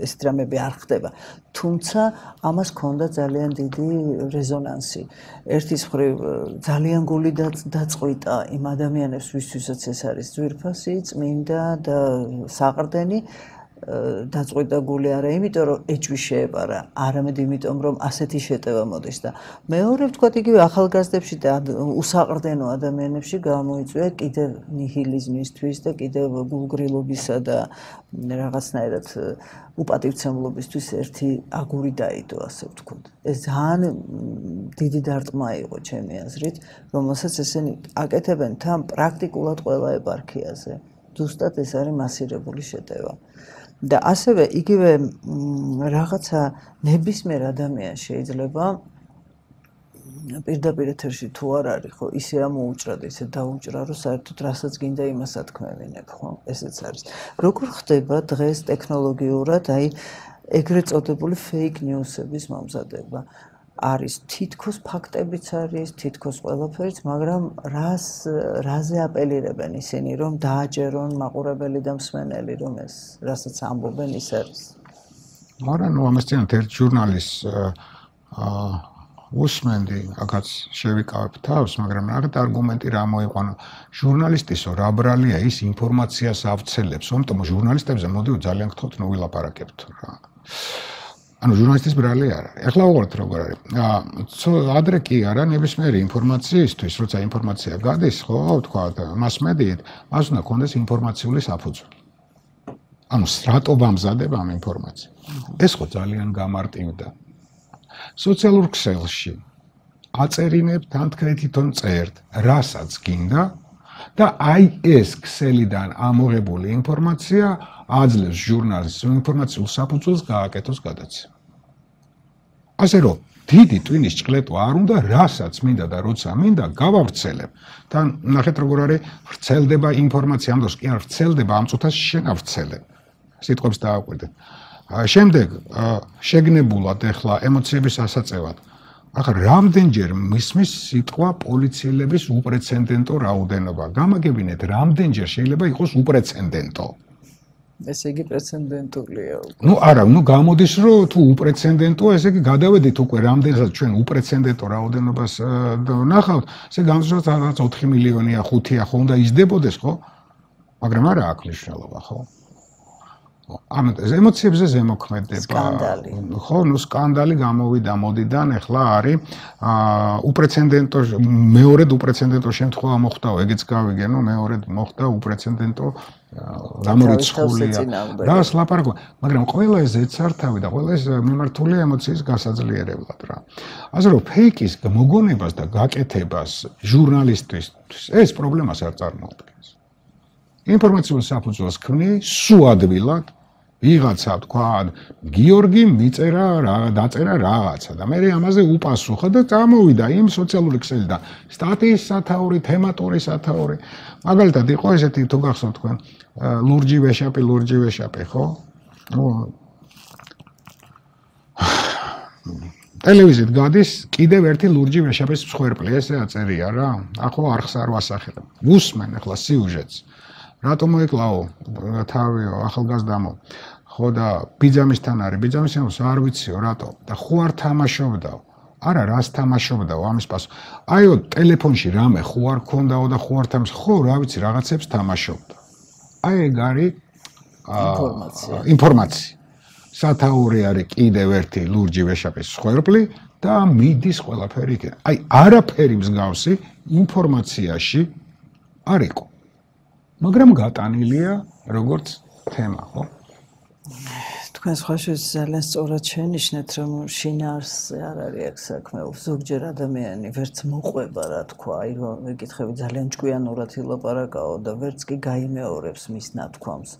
ეს დრამები არ ხდება. თუმცა ამას ჰქონდა ძალიან დიდი რეზონანსი. ერთის მხრივ ძალიან გული დაწყვიტა იმ ადამიანებს, ვისთვისაც ეს არის ძვირფასი, წმინდა და საყრდენი. დაწყვიტა გული არა იმიტომ რომ ეჭვი შეეპარა, არამედ იმიტომ რომ ასეთი შეტევა მოდის და მეორე ვთქვათ იგივე ახალგაზრდებში და უსაყრდენო ადამიანებში გამოიწვია კიდევ ნიჰილიზმისთვის და კიდევ გულგრილობისა და რაღაცნაირად უპატივცემლობისთვის ერთი აგური დაიდო, ასე ვთქვათ. ეს ძალიან დიდი დარტყმა იყო ჩემი აზრით, რომელსაც ესენი აკეთებენ თან პრაქტიკულად ყველა ეპარქიაზე. ზუსტად ეს არის მასირებული შეტევა. და ასევე იგივე რაღაცა ნებისმიერ ადამიანს შეიძლება პირდაპირ ეთერში თუ არ არის, ხო, ისე ამოუჭრა და ისე დაუჭრა, რომ საერთოდ რასაც გინდა იმას ათქმევინებ, ხო? ესეც არის. როგორ ხდება დღეს ტექნოლოგიურად, აი ეგრეთ წოდებული fake news-ების მომზადება? არის თითქოს ფაქტებიც არის, თითქოს ყველაფერიც, მაგრამ რაზე აპელირებენ ისინი, რომ დააჯერონ მაყურებელი და მსმენელი, რომ ეს რასაც ამბობენ ის არის. მაგრამ ამასთანავე ერთ ჟურნალისტს უსმენდი, აქაც შევიკავებ თავს, მაგრამ რაღაც არგუმენტი რა მოიყვანა. ჟურნალისტისო, რა ბრალია ის ინფორმაციას ავრცელებს, ამიტომ ჟურნალისტებზე მოდიო ძალიან გთხოვთ, ნუ ვილაპარაკებთ რა. ანუ ჟურნალისტის ბრალი არ არის. ეხლა უყურეთ როგორ არის. ადრე კი არა, ნებისმიერი ინფორმაციისთვის, როცა ინფორმაცია გადის, ხო, თქვა მასმედიით, მას უნდა კონდეს ინფორმაციული საფუძველი. ანუ რატო ვამზადებ ამ ინფორმაციას? ეს ხო ძალიან გამარტივდა. სოციალურ ქსელში აწერინებ თან თქვენ თვითონ წერთ, რასაც გინდა და აი ეს ქსელიდან ამოღებული ინფორმაცია აძლევს ჟურნალისტს ინფორმაციულ საფუძველს გააკეთოს გადაცემა. ასე რომ დიდი ტვინის ჭყლეტვა არ უნდა, რასაც მინდა და როცა მინდა გავავრცელებ. თან ნახეთ როგორ არის ვრცელდება ინფორმაცია, ამ დროს კი არ ვრცელდება, ამ წუთას შენ ავრცელებ. სიტყვებს დააკვირდეთ. შემდეგ შეგნებულად ეხლა ემოციების ასაწევად. ახლა რამდენჯერ მისმის სიტყვა პოლიციელების უპრეცედენტო რაოდენობა. გამაგებინეთ, რამდენჯერ შეიძლება იყოს უპრეცედენტო. ესე იგი პრეცედენტულია. ნუ არა, ნუ გამოდის რომ თუ უპრეცედენტოა, ესე იგი გადავედით უკვე რამდენსაც ჩვენ უპრეცედენტო რაოდენობას ნახავთ, ესე გამოსვლას რაღაც 4 მილიონია, 5-ია ხო უნდა იზრდებოდეს, ხო? მაგრამ არა აქვს მნიშვნელობა, ხო? ამიტომ ემოციებზე ზემოქმედება. სკანდალი. ხო, ნუ სკანდალი გამოვიდა მოდიდან, ეხლა არის უპრეცედენტო, მეორედ უპრეცედენტო შემთხვევა მოხდაო, ეგეც გავიგენო, მეორედ მოხდა უპრეცედენტო გამორიცხულია. რას ლაპარაკობ, მაგრამ ყველა ეს ეცართავი და ყველა ეს მიმართულია ემოციის გასაძლიერებლად რა. ასე რომ ფეიკის მოგონებას და გაკეთებას ჟურნალისტისთვის ეს პრობლემას არ წარმოადგენს. ინფორმაციულ საფუძველს ქმნი სუადვილად ვიღაცა თქვა გიორგი მიწერა დაწერა რაღაცა და მე ამაზე უპასუხა და წამოვიდა იმ სოციალური ქსელიდან სტატიის სათაური, თემატური სათაური. მაგალითად იყო ესეთი თუ გახსოვთ თქვენ ლურჯი ვეშაპი, ხო? ტელევიზიით გადის კიდევ ერთი ლურჯი ვეშაპის მსხვერპლი, ესე აწერია რა. ახლა არხს არ ვასახელებ. უსმენ ახლა სიუჟეტს. რატო მოეკლაო თავიო ახალგაზრდამო ხო და ბიძამისთან არის ბიძამისთანაც არ ვიციო რატო და ხო არ თამაშობდაო არა რას თამაშობდაო ამის პასუხი აიო ტელეფონში რამე ხო არ ქონდაო და ხო არ თამაშ ხო რა ვიცი რაღაცებს თამაშობდა აი ეგ არის ინფორმაცია სათაური არის კიდევ ერთი ლურჯი ვეშაპის სხვერპლი და მიდის ყველაფერი იქ აი არაფერი მსგავსი ინფორმაციაში არ იყო მაგრამ გატანილია როგორც თემა, ხო? თქვენ სხვაშორის ძალიან სწორად შენიშნეთ, რომ შინაარსზე არ არის აქ საქმე. ზოგჯერ ადამიანი ვერც მოყვება, რა თქვა, აი რომ მეკითხები ძალიან ჭკვიანურად ილაპარაკაო და ვერც კი გაიმეორებს მის ნათქვამს.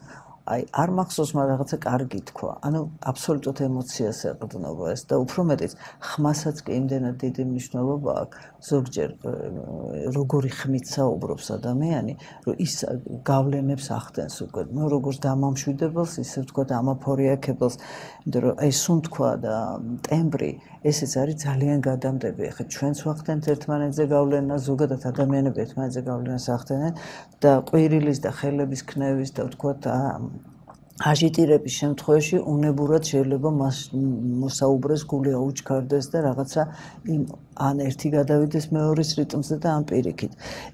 აი არ მახსოვს მაგრამ რაღაცა კარგი თქვა. ანუ აბსოლუტურად ემოციას ეყრდნობა ეს და უფრო მეტიც ხმასაც კი იმდენად დიდი მნიშვნელობა აქვს. ზოგჯერ როგორი ხმით საუბრობს ადამიანი, რომ ის გავლენებს ახდენს უკვე. ნუ როგორც დამამშვიდებელს, ისე თქვა ამაფორიაქებელს, იმიტომ რომ აი სულ თქვა და ტემბრი ესეც არის ძალიან გადამდები. ახლა ჩვენც ვახდენთ ერთმანეთზე გავლენა, ზოგადად ადამიანები ერთმანეთზე გავლენას ახდენენ და ყვირილის და ხელების ქნევის და თქვა აჟიტირების შემთხვევაში უნებურად შეიძლება მოსაუბრეს გული აუჩქარდეს და რაღაცა ან ერთი გადავიდეს მეორის რიტმზე და ან პირიქით.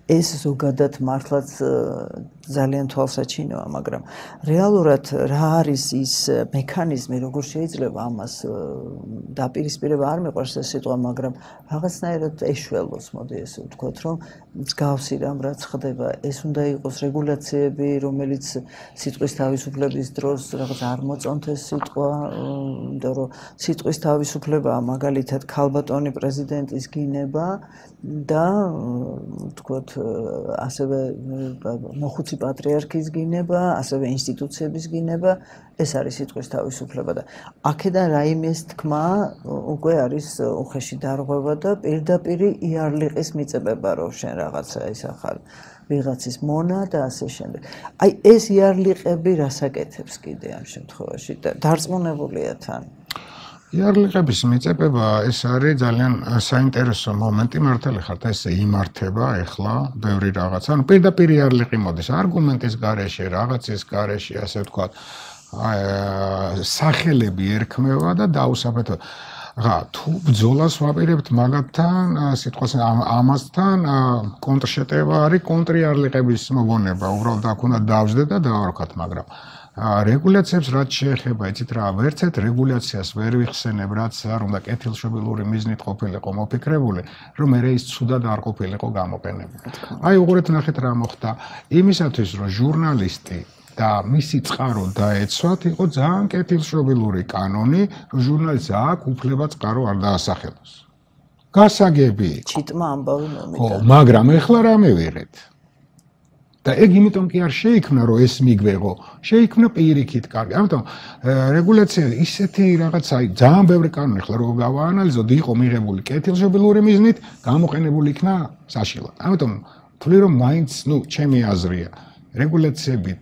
ეს ზოგადად მართლაც ძალიან თვალსაჩინოა, მაგრამ რეალურად რა არის ის მექანიზმი, როგორ შეიძლება ამას დაპირისპირება არ მეყვარს ეს სიტყვა, მაგრამ რაღაცნაირად ეშველოს, მოდი ესე ვთქვათ, რომ მსგავსი რამ რაც ხდება, ეს უნდა იყოს რეგულაციები, რომელიც სიტყვის თავისუფლების დროს რაღაც არ მოწონთ ეს სიტყვა, იმიტომ რომ სიტყვის თავისუფლებაა მაგალითად ქალბატონი პრეზიდენტის გინება და ვთქვათ ასევე მოხუცი რუსი პატრიარქის გინება, ასევე ინსტიტუციების გინება, ეს არის სიტყვის თავისუფლება და აქედან რაიმეს თქმა უკვე არის უხეში დარღვევა და პირდაპირ იარლიყის მიწებება რომ შენ რაღაცა ის ახალ ვიღაცის მონა და ასე შემდეგ. აი ეს იარლიყები რასაკეთებს კიდე ამ შემთხვევაში და დარწმუნებულია თან. იარლიყების მიწებება ეს არის ძალიან საინტერესო მომენტი, მართალი ხართ, ეს იმართება ეხლა ბევრი რაღაცა. ანუ პირდაპირ იარლიყი მოდის არგუმენტის გარეშე, რაღაცის გარეშე, ასე ვთქვათ, სახელები ერქმევა და დაუსაბეთო. რა, თუ ბრძოლას ვაპირებთ მაგათთან, სიტყვას ამასთან კონტრშეტევა არის კონტრიარლიყების მოგონება, უბრალოდ აქ უნდა დავждდეთ და დავარქვათ, მაგრამ რეგულაციებს რაც შეეხება, იცით რა, ვერცეთ რეგულაციას ვერ ვიხსენებ, რაც არ უნდა კეთილშობილური მიზნით ყოფილიყო მოფიქრებული, რომ მე ის ცუდად არ ყოფილიყო გამოყენებული. აი უყურეთ ნახეთ რა მოხდა. იმისათვის რომ ჟურნალისტი და მისი წყარო დაეცვათ, იყო ძალიან კეთილშობილური კანონი, რომ ჟურნალისტს აქვს უფლება წყარო არ დაასახელოს. გასაგები. ჩიტმა ამბავი მომიტა. ხო, მაგრამ ეხლა რა მივიღეთ? და ეგ იმიტომ კი არ შეიქმნა, რომ ეს მიგვეღო, შეიქმნა პირიქით კარგი. ამიტომ რეგულაცია ისეთი რაღაცა, ძალიან ბევრი კანონი ხლა რო გავაანალიზოთ, იყო მიღებული კეთილშობილური მიზნით, გამოყენებული იქნა საშინლად. ამიტომ თვლი რომ მაინც, ჩემი აზრია, რეგულაციები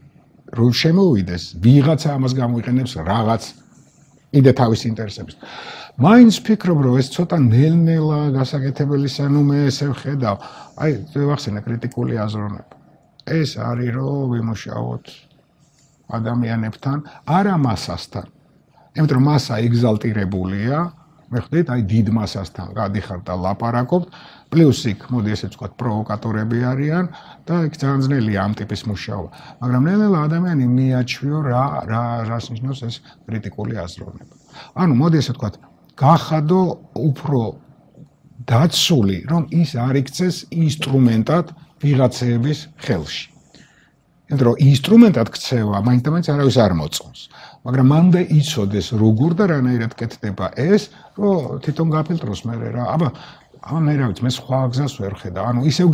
რო შემოვიდეს, ვიღაცა ამას გამოიყენებს რაღაც იდე თავის ინტერესებს. მაინც ფიქრობ, რომ ეს ცოტა ნელ-ნელა გასაკეთებელი სანუმე ესე ვხედავ. აი, ვახსენე კრიტიკული აზროვნება. ეს არის რომ ვიმუშაოთ ადამიანებთან, არა მასასთან. იმიტომ რომ მასა ეგზალტირებულია, მე ხვდით, აი დიდ მასასთან გადიხართ და ლაპარაკობთ, პლუს იქ, მოდი ესე ვთქვათ, პროვოკატორები არიან და იქ ძალიან ძნელია ამ ტიპის მუშაობა. მაგრამ ნელ-ნელა ადამიანი მიაჩვიო რას ნიშნავს ეს კრიტიკული აზროვნება. ანუ მოდი ესე ვთქვათ, გახადო უფრო დაცული, რომ ის არ იქცეს ინსტრუმენტად ვიღაცების ხელში. იმიტომ რომ ინსტრუმენტად ქცევა მაინც და მაინც არავის არ მოწონს. მაგრამ მანდ იცოდეს როგორ და რანაირად კეთდება ეს, რომ თვითონ გაფილტროს მე რა. აბა მე რა ვიცი, მე სხვა გზას ვერ ხედავ. ანუ ისევ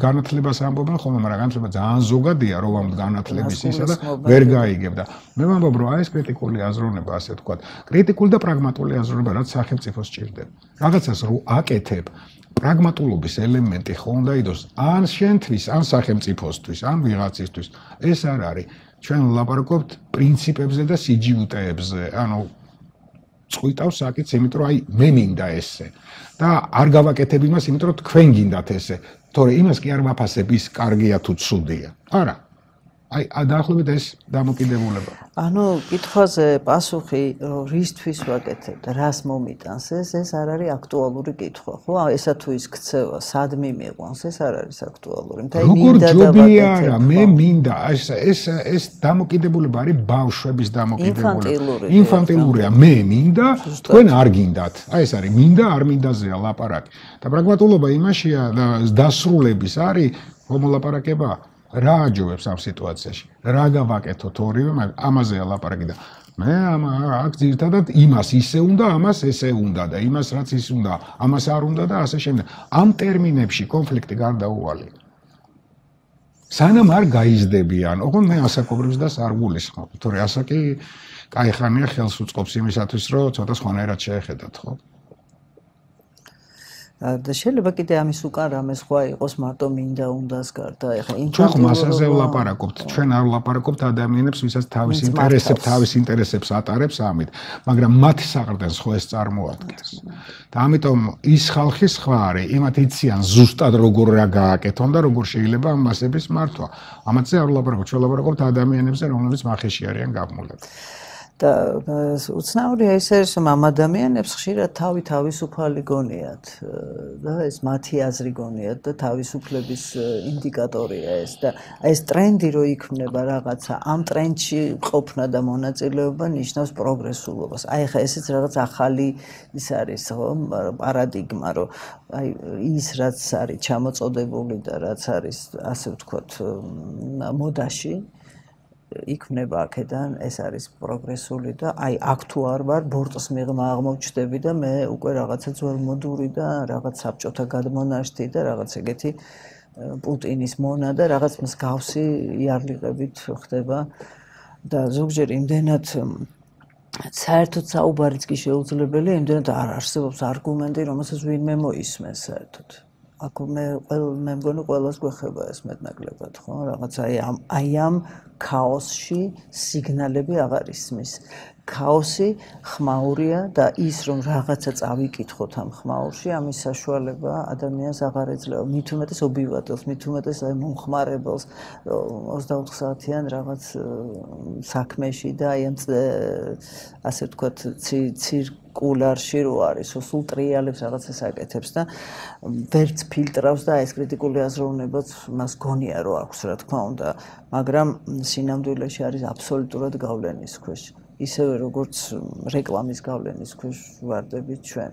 განათლებას ამბობენ ხოლმე, მაგრამ განათლება ძალიან ზოგადია, რომ ამ განათლების ისა და ვერ გაიგებ და მე ვამბობ, რომ აი ეს კრიტიკული აზროვნება, ასე ვთქვათ, კრიტიკული და პრაგმატული აზროვნება, რაც სახელმწიფოს სჭირდება. რაღაცას რო აკეთებ, პრაგმატულობის ელემენტი ხო უნდა იყოს ან შენთვის, ან სახელმწიფოსთვის, ან ვიღაცისთვის. ეს არ არის. ჩვენ ვლაპარაკობთ პრინციპებზე და სიჯიუტეებზე. ანუ წყვიტავს საკითხს, იმიტომ რომ აი მე მინდა ესე. და არ გავაკეთებ იმას, იმიტომ რომ თქვენ გინდათ ესე. თორე იმას კი არ ვაფასებ, ის კარგია თუ ცუდია. არა. აი დაახლოებით ეს დამოკიდებულება. ანუ კითხვაზე პასუხი რისთვის ვაკეთებ და რას მომიტანს ეს არ არის აქტუალური კითხვა, ხო? ესა თუ ის ქცევა, სად მიმიყვანს, ეს არ არის აქტუალური. მთელი მინდა და ვაკეთებ. მე მინდა, ეს დამოკიდებულება არის ბავშვების დამოკიდებულება. ინფანტილურია, მე მინდა, თქვენ არ გინდათ. აი ეს არის მინდა, არ მინდაზეა ლაპარაკი. და პრაგმატულობა იმაშია და დასრულების არის მომლაპარაკება. რა აჯობებს ამ სიტუაციაში? რა გავაკეთოთ ორივე, ამაზეა ლაპარაკი და მე აქ ძირითადად იმას ისე უნდა, ამას ესე უნდა და იმას რაც ის უნდა, ამას არ უნდა და ასე შემდეგ. ამ ტერმინებში კონფლიქტი გარდაუვალია. სანამ არ გაიზრდებიან, ოღონდ მე ასაკობრივს და არ გულისხმობ, თორე ასაკი კაი ხანია ხელს უწყობს იმისათვის, რომ ცოტა სხვანაირად შეეხედათ, ხო? და შეიძლება კიდე ამის უკან რამე სხვა იყოს მარტო მინდა უნდას გარდა ეხლა ჩვენ მასაზე ვლაპარაკობთ ჩვენ არ ვლაპარაკობთ ადამიანებს ვისაც თავის ინტერესებს ატარებს ამით მაგრამ მათ საყრდენს ხო ეს წარმოადგენს და ამიტომ ის ხალხი სხვა არის იმათ იციან ზუსტად როგორ რა გააკეთონ და როგორ შეიძლება ამ მასების მართვა ამაზე არ ვლაპარაკობთ ჩვენ ვლაპარაკობთ ადამიანებზე რომლებიც მახეში არიან გამულები და უცნაურია ის არის რომ ამ ადამიანებს ხშირად თავისუფალი გონიათ და ეს მათი აზრი გონიათ და თავისუფლების ინდიკატორია ეს და ეს ტრენდი რო იქმნება რაღაცა ამ ტრენდში ყოფნა და მონაწილეობა ნიშნავს პროგრესულობას აი ხა ესეც რაღაც ახალი ის არის ხო პარადიგმა რომ აი ის რაც არის ჩამოწოდებული და რაც არის ასე ვთქვათ მოდაში იქმნება აქედან ეს არის პროგრესული და აი აქ თუ არ ვარ ბორტს მიღმა აღმოჩნდები და მე უკვე რაღაცა ძველმოდური და რაღაც საბჭოთა გადმონაშთი და რაღაც ეგეთი პუტინის მონა და რაღაც მსგავსი იარლიღებით ხდება და ზოგჯერ იმდენად საერთოდ საუბარიც კი შეუძლებელია, იმდენად არ არსებობს არგუმენტი, რომელსაც ვინმე მოისმენს საერთოდ. აქ მე მგონი ყველას გვეხება ეს მეტნაკლებად, ხო? რაღაც აი ამ ქაოსში სიგნალები აღარ ისმის. ქაოსი ხმაურია და ის რომ რაღაცა წავიკითხოთ ამ ხმაურში, ამის საშუალება ადამიანს აღარ ეძლევა. მით უმეტეს ობივატელს, მით უმეტეს აი მომხმარებელს 24 საათიან რაღაც საქმეში და აი ამ ასე ვთქვათ ცირკულარში რო არის, სულ ტრიალებს რაღაცას აკეთებს და ვერც ფილტრავს და ეს კრიტიკული აზროვნებაც მას გონია რო აქვს, რა თქმა უნდა, მაგრამ სინამდვილეში არის აბსოლუტურად გავლენის ქვეშ. ისევე როგორც რეკლამის გავლენის ქვეშ ვარდებით ჩვენ.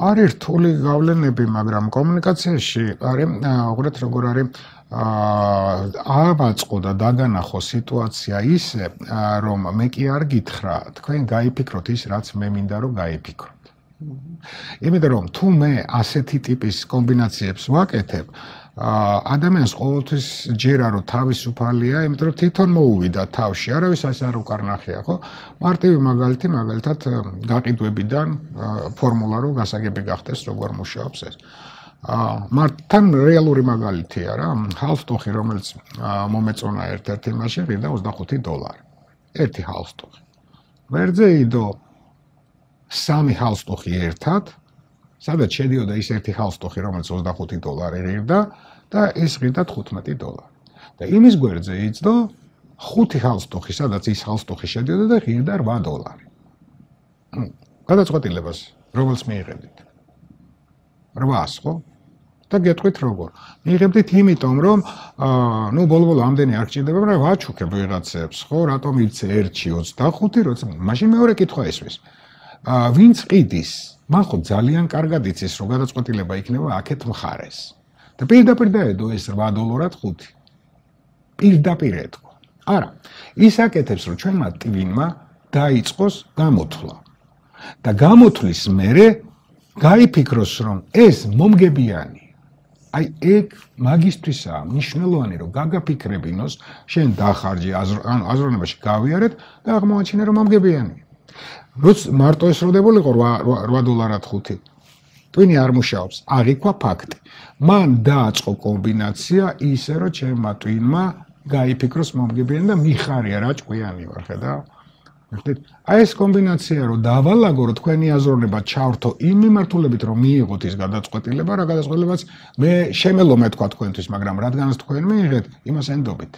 არის რთული გავლენები, მაგრამ კომუნიკაციაში არის უყურეთ როგორ არის ააწყო და დაგანახო სიტუაცია ისე, რომ მე კი არ გითხრა, თქვენ გაიფიქროთ ის, რაც მე მინდა რომ გაიფიქროთ. იმიტომ რომ თუ მე ასეთი ტიპის კომბინაციებს ვაკეთებ, ადამიანს ყოველთვის ჯერა რომ თავისუფალია, იმიტომ რომ თვითონ მოუვიდა თავში, არავის ასე არ უკარნახია, ხო? მარტივი მაგალითი, მაგალითად გაყიდვებიდან ფორმულა რო გასაგები გახდეს, როგორ მუშაობს ეს. თან რეალური მაგალითია რა, ჰალსტოხი, რომელიც მომეწონა ერთ-ერთი მასში ღირდა $25. ერთი ჰალსტოხი. ვერძე იდო 3 ჰალსტოხი ერთად, სადაც შედიოდა ის ერთი ჰალსტოხი, რომელიც $25 ღირდა და ეს ღირდა $15. და იმის გვერდზე იწდო 5 ჰალსტოხი, სადაც ის ჰალსტოხი შედიოდა და ღირდა $8. გადაწყვეტილებას რომელს მიიღებდით? 800, ხო? და გეტყვით როგორ? მიიღებდით იმიტომ, რომ ბოლო-ბოლო ამდენი არ გჭირდება, მაგრამ ვაჩუქებ ვიღაცებს, ხო? რატომ იცე 1-ში 25, როცა მაშინ მეორე კითხვა ესვის. ვინც ყიდის, მან ხო ძალიან კარგად იცის, რომ გადაწყვეტილება იქნება აქეთ მხარეს. და პირდაპირ დაედო ეს $8-ად 5. პირდაპირ ეთქვა. არა, ის აკეთებს, რომ ჩვენმა ტვინმა დაიწყოს გამოთვლა. და გამოთვლის მერე გაიფიქროს, რომ ეს მომგებიანი. აი ეგ მაგისტრისაა მნიშვნელოვანი, რომ გაგაფიქრებინოს, შენ დახარჯი აზროვნებაში გავიარეთ და აღმოაჩინე, რომ მომგებიანია. როცა მარტო ეს როდებულიყო $8-ად 5. ტვინი არ მუშაობს, აღიქვა ფაქტი. მან დააწყო კომბინაცია ისე, რომ ჩემმა ტვინმა გაიფიქროს მომგებიანი და მიხარია რა ჭკვიანი ვარ, ხედავ? აი ეს კომბინაცია რომ დავალაგო, რომ თქვენი აზროვნება ჩავრთო იმ მიმართულებით, რომ მიიღოთ ის გადაწყვეტილება, რა გადაწყვეტილებაც მე შემელომე თქვა თქვენთვის, მაგრამ რადგანაც თქვენ მიიღეთ, იმას ენდობით.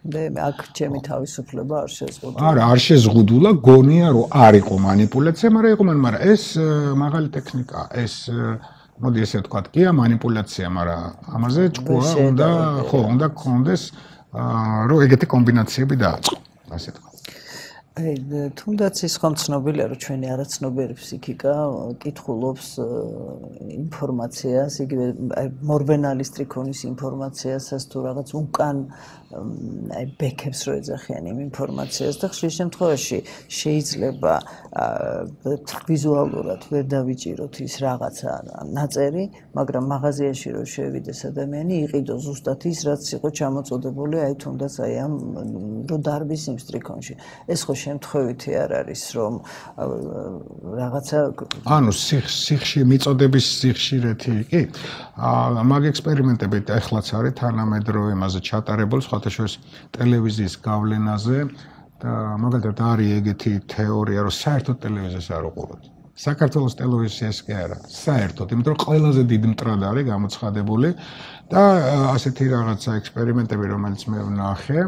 აქ ჩემი თავისუფლება არ შეზღუდულა. არა, არ შეზღუდულა, გონია რომ არ იყო манипуляცია, მაგრამ ეს მაღალი ტექნიკაა, ეს მოდი ესე ვთქვათ, კი манипуляცია, მაგრამ ამაზე ჭკუა უნდა გქონდეს, რომ ეგეთი კომბინაციები დააწყო, ასე ვთქვათ. თუნდაც ის ხომ ცნობილია, რომ ჩვენი არაცნობიერი ფსიქიკა კითხულობს ინფორმაციას, იგივე მორბენალის ტრიქონის ინფორმაციასაც თუ რაღაც უკან ბექებს რო ეძახიან იმ ინფორმაციას და ხშირ შემთხვევაში შეიძლება ვიზუალურად ვერ დავიჭიროთ ის რაღაცა ნაწერი, მაგრამ მაღაზიაში რო შევიდეს ადამიანი, იყიდოს ზუსტად ის, რაც იყო ჩამოწოდებული, აი თუნდაც აი ამ რო დარბის იმ ტრიქონში. ეს ხო შემთხვევითი არ არის, რომ რაღაცა ანუ მიწოდების სიხშირეთი კი? მაგ ექსპერიმენტებით ახლაც არის თანამედროვე იმაზე ჩატარებულ, სხვათა შორის ტელევიზიის გავლენაზე და მაგალითად არის ეგეთი თეორია, რომ საერთოდ ტელევიზიას არ უყუროთ. საქართველოს ტელევიზიას კი არა, საერთოდ, იმიტომ რომ ყველაზე დიდი მტრად არის გამოცხადებული და ასეთი რაღაცა ექსპერიმენტები, რომელიც მე ვნახე,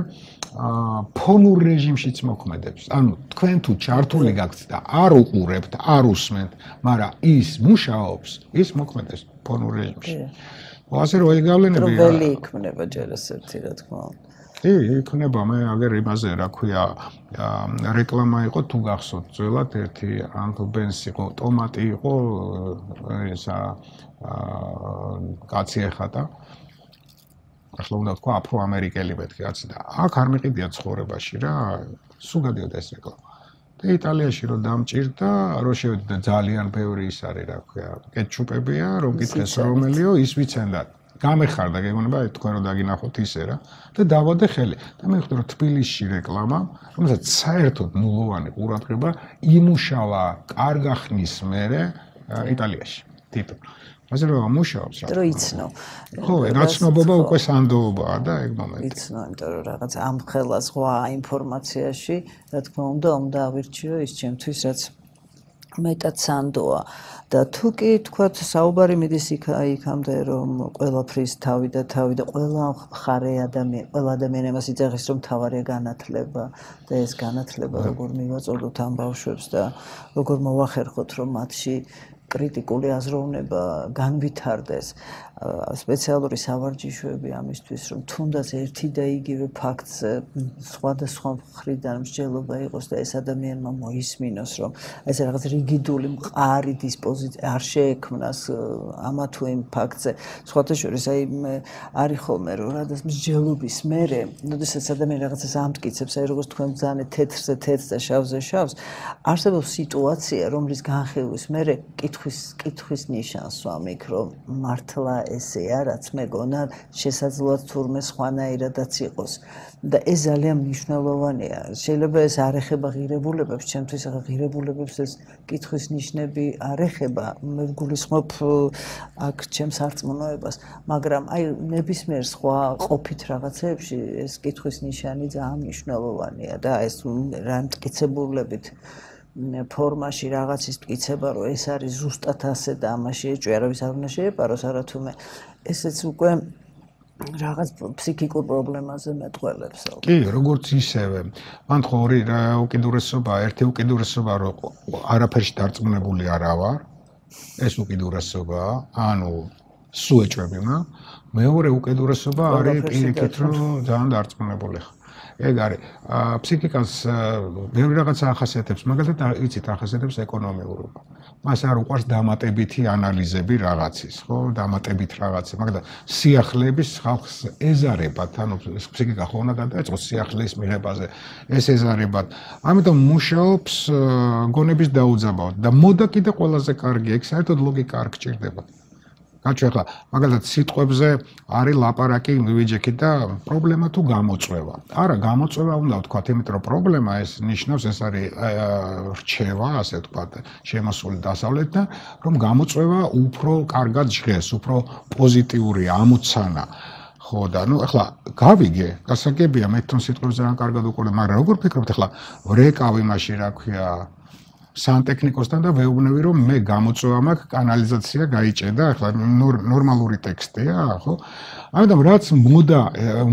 ფონურ რეჟიმშიც მოქმედებს. ანუ თქვენ თუ ჩართული გაქვთ და არ უყურებთ, არ უსმენთ, მაგრამ ის მუშაობს, ის მოქმედებს ფონურ რეჟიმში. ასე რომ ეგ გავლენები ველი იქმნება ჯერ ასეთი, რა თქმა უნდა. კი, იქნება, მე აგერ იმაზე, რა ქვია, რეკლამა იყო თუ გახსოვთ, ძველად ერთი Uncle Ben-ს იყო, ტომატი იყო, ისა კაცი ეხატა. ახლა უნდა თქვა აფრო-ამერიკელი მეთქი კაცი და აქ არ მიყიდია ცხოვრებაში რა, სულ გადიოდა ეს რეკლამა. და იტალიაში რომ დამჭირდა, რომ შევედი და ძალიან ბევრი ის არის, რა ქვია, კეტჩუპებია, რომ კითხეს რომელიო, ის ვიცენდათ. გამეხარდა გეგონება თქვენ რომ დაგინახოთ ისე რა და დავადე ხელი და მე ვხვდი რომ თბილისში რეკლამა რომელსაც საერთოდ ნულოვანი ყურადღება იმუშავა კარგა ხნის მერე იტალიაში თვითონ ასე რომ მუშაობს რა დრო იცნო ხო რაცნობობა უკვე სანდოობაა და ეგ მომენტი იცნო იმიტომ რომ რაღაც ამ ხელა სხვა ინფორმაციაში რა თქმა უნდა ავირჩიო ის ჩემთვის რაც მეტად სანდოა და თუ კი თქვა საუბარი მიდის იქამდე რომ ყველაფრის თავი და ყველა მხარე ყველა ადამიანი მას იწეხის რომ თავარია განათლება და ეს განათლება როგორ მივაწოდოთ ამ ბავშვებს და როგორ მოვახერხოთ რომ მათში კრიტიკული აზროვნება განვითარდეს სპეციალური სავარჯიშოები ამისთვის რომ თუნდაც ერთი და იგივე ფაქტზე სხვადასხვა მხრიდან მსჯელობა იყოს და ეს ადამიანმა მოისმინოს რომ ეს რაღაც რიგიდული მყარი დისპოზიცია არ შეექმნას ამა თუ იმ ფაქტზე სხვათა შორის აი არის ხოლმე რომ რადგან მსჯელობის მერე როდესაც ადამიანი რაღაცას ამტკიცებს აი როგორც თქვენ ბრძანეთ თეთრზე თეთრს და შავზე შავს არსებობს სიტუაცია რომლის განხილვის მერე კითხვის ნიშანს ვამიქ რომ მართლა ესეა რაც მეგონა შესაძლოა თურმე სხვანაირადაც იყოს და ეს ძალიან მნიშვნელოვანია შეიძლება ეს არ ეხება ღირებულებებს ჩემთვის ახლა ღირებულებებს ეს კითხვის ნიშნები არ ეხება მე ვგულისხმობ აქ ჩემს არწმუნოებას მაგრამ აი ნებისმიერ სხვა ყოფით რაღაცეებში ეს კითხვის ნიშანი ძალიან მნიშვნელოვანია და ეს რა მტკიცებულებით ფორმაში რაღაცის მტკიცება რომ ეს არის ზუსტად ასე და ამაში ეჭვი არავის არ უნდა შეეპაროს არათუმე ესეც უკვე რაღაც ფსიქიკურ პრობლემაზე მეტყველებს კი როგორც ისევე მან ხო ორი უკიდურესობა ერთი უკიდურესობა რომ არაფერში დარწმუნებული არა ვარ ეს უკიდურესობაა ანუ სულ ეჭვები მეორე უკიდურესობა არის პირიქით რომ ძალიან დარწმუნებული ხარ ეგ არის ფსიქიკას ბევრი რაღაცა ახასიათებს მაგალითად იცით ახასიათებს ეკონომიურობა მას არ უყვარს დამატებითი ანალიზები რაღაცის ხო დამატებით რაღაცა მაგალითად სიახლეების ხალხს ეზარებათ ანუ ფსიქიკა ხო უნდა გადაეწყოს სიახლეის მიღებაზე ეს ეზარებათ ამიტომ მუშაობს გონების დაუძაბავად და მოდა კიდე ყველაზე კარგი ეგ საერთოდ ლოგიკა არ გჭირდება გაჩვენ ახლა მაგალითად სიტყვებზე არის ლაპარაკი ვიჯექი და პრობლემა თუ გამოწვევა. არა, გამოწვევა უნდა ვთქვათ, იმიტომ რომ პრობლემა ეს ნიშნავს ეს არის რჩევა, ასე ვთქვათ, შემოსული დასავლეთ და რომ გამოწვევა უფრო კარგად ჟღერს, უფრო პოზიტიურია, ამოცანა. ხო და ნუ ახლა გავიგე, გასაგებია მე თვითონ სიტყვებს ძალიან კარგად უყურებ, მაგრამ როგორ ფიქრობთ ახლა ვრეკავ იმაში რა ქვია სანტექნიკოსთან და ვეუბნები რომ მე გამოწვევა მაქვს კანალიზაცია გაიჭედა ახლა ნორმალური ტექსტია ხო ამიტომ რაც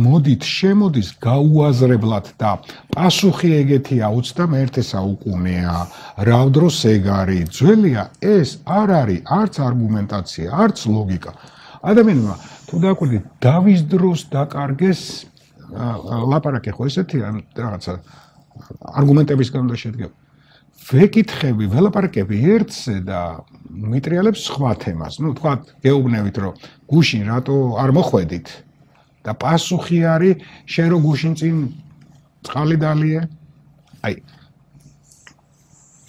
მოდით შემოდის გაუაზრებლად და პასუხი ეგეთია 21 საუკუნეა რა დროს ეგ არის ძველია ეს არ არის არც არგუმენტაცია არც ლოგიკა ადამიანმა თუ დაკვირდით დავის დროს დაკარგეს ლაპარაკი ხო ესეთია რაღაცა არგუმენტებისგან და შედგება ვეკითხები, ველაპარაკები ერთზე და მიტრიალებს სხვა თემას. ნუ თქვა გეუბნებით რომ გუშინ რატო არ მოხვედით და პასუხი არის შენ რო გუშინ წინ წყალი დალიე. აი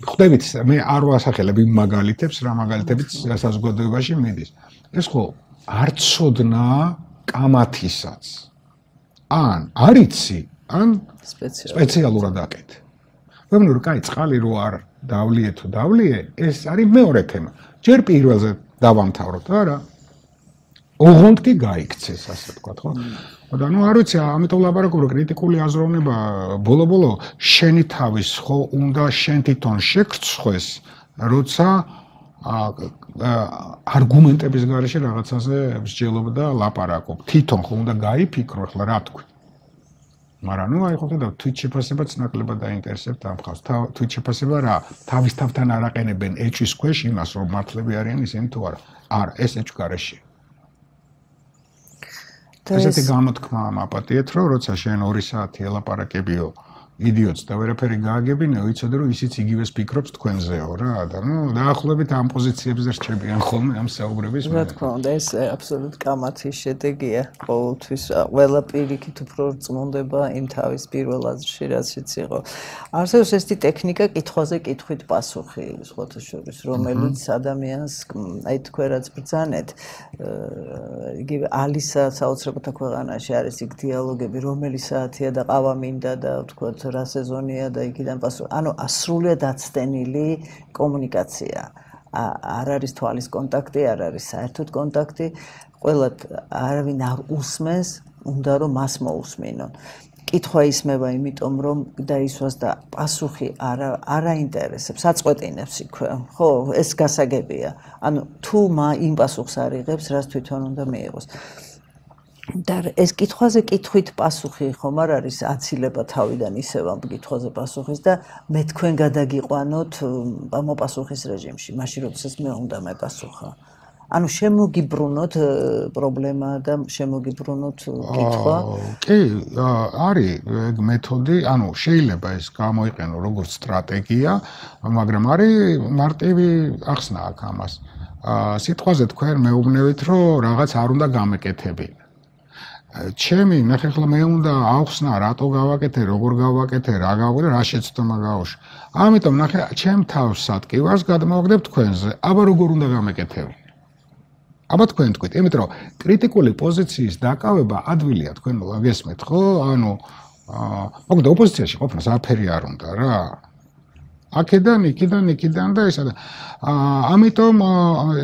ხვდებით მე არ ვასახელებ იმ მაგალითებს, რა მაგალითებიც საზოგადოებაში მიდის. ეს ხო არ ცოდნა კამათისაც. ან არიცი, ან სპეციალურად აკეთე. ვემნურ კაი წყალი რო არ დავლიე თუ დავლიე ეს არის მეორე თემა ჯერ პირველზე დავამთავროთ არა ოღონდ კი გაიქცეს ასე ვთქვათ ხო და ნუ არ ვიცი ამიტომ ლაპარაკობ რომ კრიტიკული აზროვნება ბოლო-ბოლო შენი თავის ხო უნდა შენ თვითონ შეგრცხვეს როცა არგუმენტების გარეშე რაღაცაზე მსჯელობ და ლაპარაკობ თვითონ ხო უნდა გაიფიქრო ახლა რა თქვი მაგრამ ნუ აი ხედავ თვით შეფასებაც ნაკლებად დაინტერესებთ ამ ხალხს. თვით შეფასება რა, თავის თავთან არ აყენებენ ეჭვის ქვეშ იმას, რომ მართლები არიან ისინი თუ არა. არა, ეს ეჭვ გარეშე. ესეთი გამოთქმა მაპატიეთ, რომ როცა შენ 2 საათი ელაპარაკებიო იდიოტს და ვერაფერი გააგებინე, ვიცოდე რომ ისიც იგივეს ფიქრობს თქვენზეო რა და დაახლოებით ამ პოზიციებზე რჩებიან ხოლმე ამ საუბრების რა თქმა უნდა ეს აბსოლუტ კამათის შედეგია ყოველთვის ყველა პირიქით უფრო წმუნდება იმ თავის პირველ აზრში რაციც იყო არსებობს ესეთი ტექნიკა კითხვაზე კითხვით პასუხი სხვათა შორის რომელიც ადამიანს აი თქვენ რაც ბრძანეთ იგივე ალისა საოცრებათა ქვეყანაში არის იქ დიალოგები რომელი საათია და ყავა მინდა და თქვათ რა სეზონია და იქიდან პასუხი ანუ სრულიად აცდენილი კომუნიკაცია არ არის თვალის კონტაქტი, არ არის საერთოდ კონტაქტი, ყველა არავინ არ უსმენს, უნდა რომ მას მოусმინონ. კითხვა ისმება იმიტომ რომ დაისვას და პასუხი არაინტერესებს, აწყვეტინებს იქვე. ხო, ეს გასაგებია. ანუ თუ იმ პასუხს არ იღებს, რას თვითონ უნდა მიიღოს. და ეს კითხვაზე კითხვით პასუხი ხომ არ არის აცილება თავიდან ისევ ამ კითხვაზე პასუხის და მე თქვენ გადაგიყვანოთ მოპასუხის რეჟიმში, მაშინ როდესაც მე უნდა მეპასუხა. ანუ შემოგიბრუნოთ პრობლემა და შემოგიბრუნოთ კითხვა. კი, არის ეგ მეთოდი, ანუ შეიძლება ეს გამოიყენო როგორც სტრატეგია, მაგრამ არის მარტივი ახსნა აქ ამას. სიტყვაზე თქვენ მეუბნებით, რომ რაღაც არ უნდა გამეკეთებინა. ჩემი ნახე ხოლმე მე უნდა ახსნა რატო გავაკეთე, როგორ გავაკეთე, რა გავაკეთე, რა შეცდომა გავუშვა. ამიტომ ნახე ჩემ თავს სატკივარს გადმოვაგდებ თქვენზე. აბა როგორ უნდა გამეკეთებინა? აბა თქვენ თქვით, იმიტომ რომ კრიტიკული პოზიციის დაკავება ადვილია თქვენ მოგესმით, ხო? ანუ მოკლედ ოპოზიციაში ყოფნა საფერი არ უნდა რა. აქედან, იქიდან და ესა და ამიტომ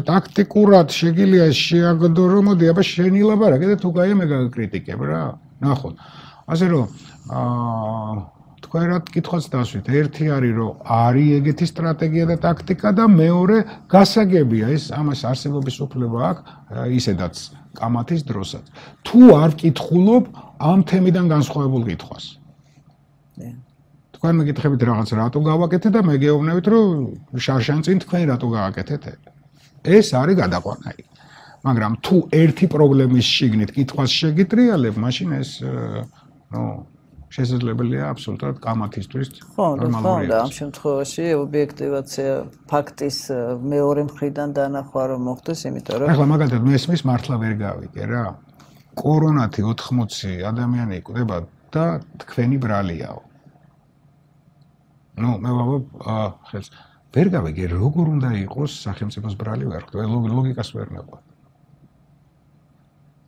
ტაქტიკურად შეგიძლია შეაგდო რომ მოდი აბა შენი ლაპარაკი და თუ გაია მე გაკრიტიკებ რა. ნახოთ. ასე რომ თქვენ რა კითხვას დასვით. ერთი არის რომ არის ეგეთი სტრატეგია და ტაქტიკა და მეორე გასაგებია ეს ამას არსებობის უფლება აქვს ისედაც კამათის დროსაც. თუ არ ვკითხულობ ამ თემიდან განსხვავებულ კითხვას. თქვენ მეკითხებით რაღაც რატო გავაკეთე და მე გეუბნებით რომ შარშანწინ თქვენ რატო გააკეთეთ ეს არის გადაყვანა მაგრამ თუ ერთი პრობლემის შიგნით კითხვას შეგიტრიალებ მაშინ ეს შესაძლებელია აბსოლუტურად კამათისთვის ნორმალურია ამ შემთხვევაში ობიექტივაცია ფაქტის მეორე მხრიდან დანახვა რომ მოხდეს იმიტომ რომ ახლა მაგალითად მე ესმის მართლა ვერ გავიგე რა კორონათი 80 ადამიანი იკვდება და თქვენი ბრალიაო ნუ მე ვაბობ ხელს ვერ გავიგე როგორ უნდა იყოს სახელმწიფოს ბრალი ვერ ხვდები ლოგიკას ვერ მეყვარ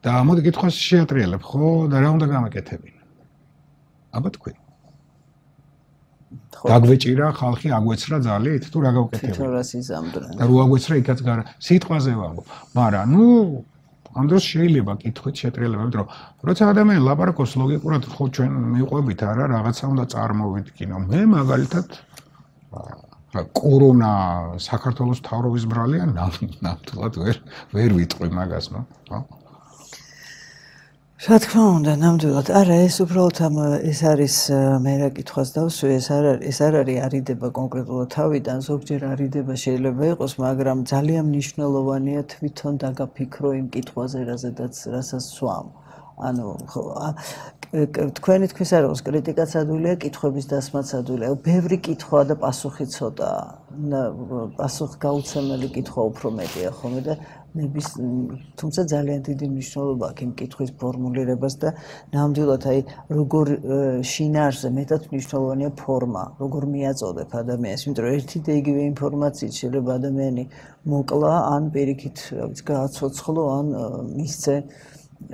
და მოდი კითხვას შეატრიალებ ხო და რა უნდა გამეკეთებინა აბა თქვენ დაგვეჭირა ხალხი აგვეცრა ძალით თუ რა გავკეთებინა თვითონ რას იზამდნენ და რო აგვეცრა იქაც გარა სიტყვაზე ვამბობ მაგრამ ნუ ამ დროს შეიძლება კითხვით შეტრიალება იმიტომ რომ როცა ადამიანი ლაპარაკობს ლოგიკურად ხო ჩვენ მიყვებით არა რაღაცა უნდა წარმოვიდგინო მე მაგალითად კორონა საქართველოს მთავრობის ბრალია ნამდვილად ვერ ვიტყვი მაგას ნო ხო რა თქმა უნდა ნამდვილად არა ეს უბრალოდ ეს არის მე რა კითხვას დავსვი ეს არ არის არიდება კონკრეტულად თავიდან ზოგჯერ არიდება შეიძლება იყოს მაგრამ ძალიან მნიშვნელოვანია თვითონ დაგაფიქრო იმ კითხვაზე რასაც სვამ ანუ თქვენი თქვის არ აქვს კრიტიკაც ადვილია კითხვების დასმაც ადვილია ბევრი კითხვა და პასუხი ცოტაა პასუხ გაუცემელი კითხვა უფრო მეტია ხოლმე და თუმცა ძალიან დიდი მნიშვნელობა აქვს იმ კითხვის ფორმულირებას და ნამდვილად აი როგორ შინაარსზე მეტად მნიშვნელოვანია ფორმა როგორ მიაწოდებ ადამიანს იმიტომ რომ ერთი და იგივე ინფორმაციით შეიძლება ადამიანი მოკლა ან პირიქით გააცოცხლო ან მისცე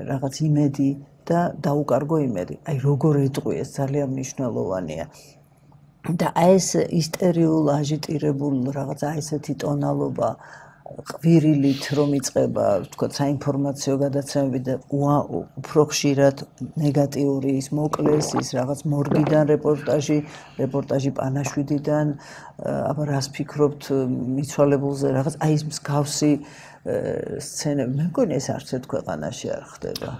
რაღაც იმედი და დაუკარგო იმედი აი როგორ ეტყვი ეს ძალიან მნიშვნელოვანია და ეს ისტერიულ აჟიტირებულ რაღაც აი ესეთი ტონალობა ყვირილით რომ იწყება თქო საინფორმაციო გადაცემები და უფრო ხშირად ნეგატიური ის მოკლეს ის რაღაც მორგიდან რეპორტაჟი პანაშვიდიდან აბა რას ფიქრობთ მიცვალებულზე რაღაც აი ეს მსგავსი სცენები მე მგონი ეს არც ერთ ქვეყანაში არ ხდება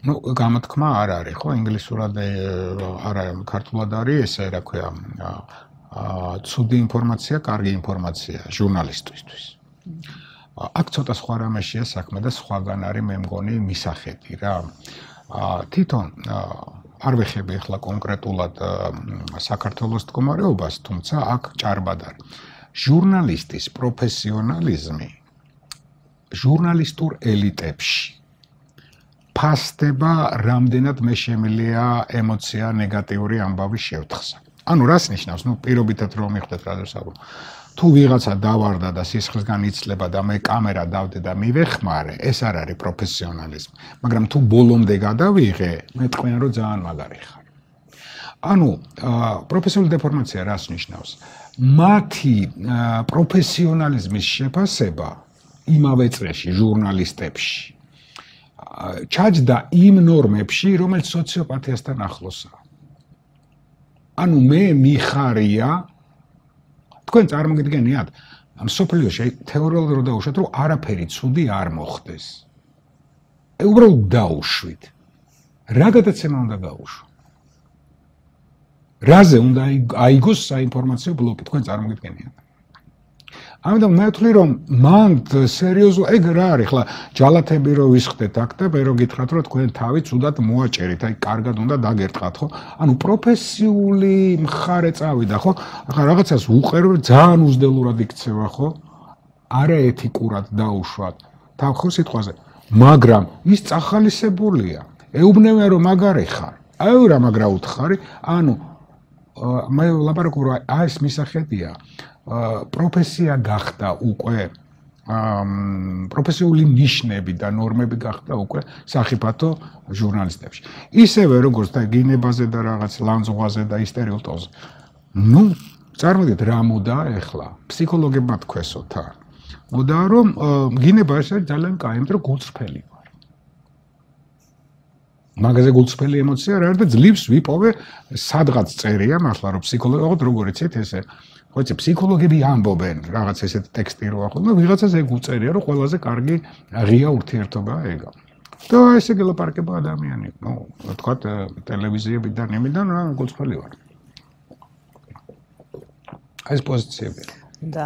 ну გამოთქმა არ არის ხო ინგლისურად არა ქართულად არის ესე რა ქვია ცუდი ინფორმაცია, კარგი ინფორმაცია ჟურნალისტისთვის. აქ ცოტა სხვა რამეშია საქმე და სხვაგან არის მე მგონი მისახედი რა. თვითონ არ ვეხები ახლა კონკრეტულად საქართველოს მდგომარეობას, თუმცა აქ ჭარბად არის. ჟურნალისტის პროფესიონალიზმი ჟურნალისტურ ელიტებში ფასდება რამდენად მე შემილია ემოცია ნეგატიური ამბავი შევთხსა. ანუ რას ნიშნავს? პირობითად რომ მიხვდეთ რა დასაბო. თუ ვიღაცა დავარდა და სისხლისგან იცლება და მე კამერა დავდე და მივეხმარე, ეს არ არის პროფესიონალიზმი. მაგრამ თუ ბოლომდე გადავიღე, მე თქვენ რომ ძალიან მაგარი ხარ. ანუ პროფესიული დეფორმაცია რას ნიშნავს? მათი პროფესიონალიზმის შეფასება იმავე წრეში ჟურნალისტებში ჩაჯდა იმ ნორმებში, რომელიც სოციოპათიასთან ახლოსაა. ანუ მე მიხარია თქვენ წარმოგიდგენიათ, მსოფლიოში თეორიულად რო დაუშვათ, რომ არაფერი ცუდი არ მოხდეს. უბრალოდ დაუშვით. რა გადაცემა უნდა გაუშვო? რაზე უნდა აიგოს საინფორმაციო ბლოკი, თქვენ წარმოგიდგენიათ. ამიტომ მე ვთვლი რომ მან სერიოზულ ეგ რა არის ხლა ჯალათები რო ვისხდეთ აქ და მე რო გითხრათ რომ თქვენ თავი ცუდად მოაჭერით, აი კარგად უნდა დაგერტყათ ხო? ანუ პროფესიული მხარე წავიდა ხო? ახლა რაღაცას უყერო ძალიან უზდელურად იქცევა ხო? არაეთიკურად დაუშვათ თავ ხო სიტყვაზე, მაგრამ ის წახალისებულია. ეუბნებიან რომ მაგარი ხარ. აი რა მაგრა უთხარი, ანუ მე ლაპარაკობ რომ აი ეს მისახედია პროფესია გახდა უკვე პროფესიული ნიშნები და ნორმები გახდა უკვე სახიფათო ჟურნალისტებში. ისევე როგორც და გინებაზე და რაღაც ლანძღვაზე და ისტერიოტოზე. ნუ წარმოგიდგენთ რა მოდა ეხლა ფსიქოლოგებმა თქვესოთ არ. მოდა რომ გინება ეს არის ძალიან კაი, იმიტომ რომ გულწრფელი ვარ. მაგაზე გულწრფელი ემოცია რა არის და ძლივს ვიპოვე სადღაც წერია მართლა რომ ფსიქოლოგია როგორ იცით ესე ხოიცი ფსიქოლოგები ამბობენ რაღაც ესეთი ტექსტი რო ახლა და ვიღაცას ეგ უწერია რომ ყველაზე კარგი ღია ურთიერთობაა ეგა. და ესე გელაპარაკება ადამიანი, ნუ თქვათ ტელევიზიებიდან იმიდან რა გულწრფელი ვარ. ეს პოზიციებია. და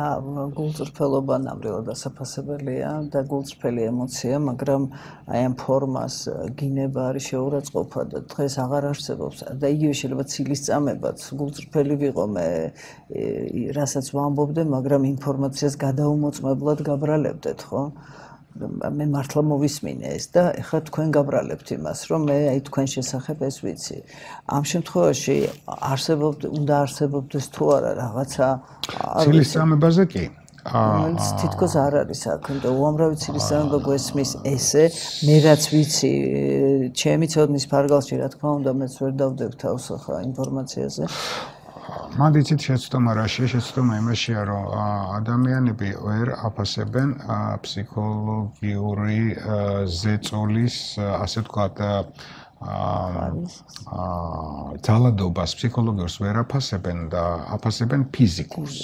გულწრფელობა ნამდვილად დასაფასებელია და გულწრფელი ემოცია, მაგრამ აი ამ ფორმას გინება არის შეურაცხყოფა და დღეს აღარ არსებობს და იგივე შეიძლება ცილის წამებაც გულწრფელი ვიყო მე რასაც ვამბობდე, მაგრამ ინფორმაციას გადაუმოწმებლად გაბრალებდეთ, ხო? მე მართლა მოვისმინე ეს და ეხლა თქვენ გაბრალებთ იმას, რომ მე აი თქვენ შესახებ ეს ვიცი. ამ შემთხვევაში უნდა არსებობდეს თუ არა რაღაცა ცილის წამებაზე კი. რომელიც თითქოს არ არის აქ და უამრავი ცილის წამება გვესმის ესე, მე რაც ვიცი, ჩემი ცოდნის ფარგალში რა თქმა უნდა მეც ვერ დავდებ თავს ახლა ინფორმაციაზე. მან იცით შეცდომა რაშია, შეცდომა იმაშია, რომ ადამიანები ვერ აფასებენ ფსიქოლოგიური ზეწოლის, ასე ვთქვათ, ძალადობას ფსიქოლოგიურს ვერ აფასებენ და აფასებენ ფიზიკურს.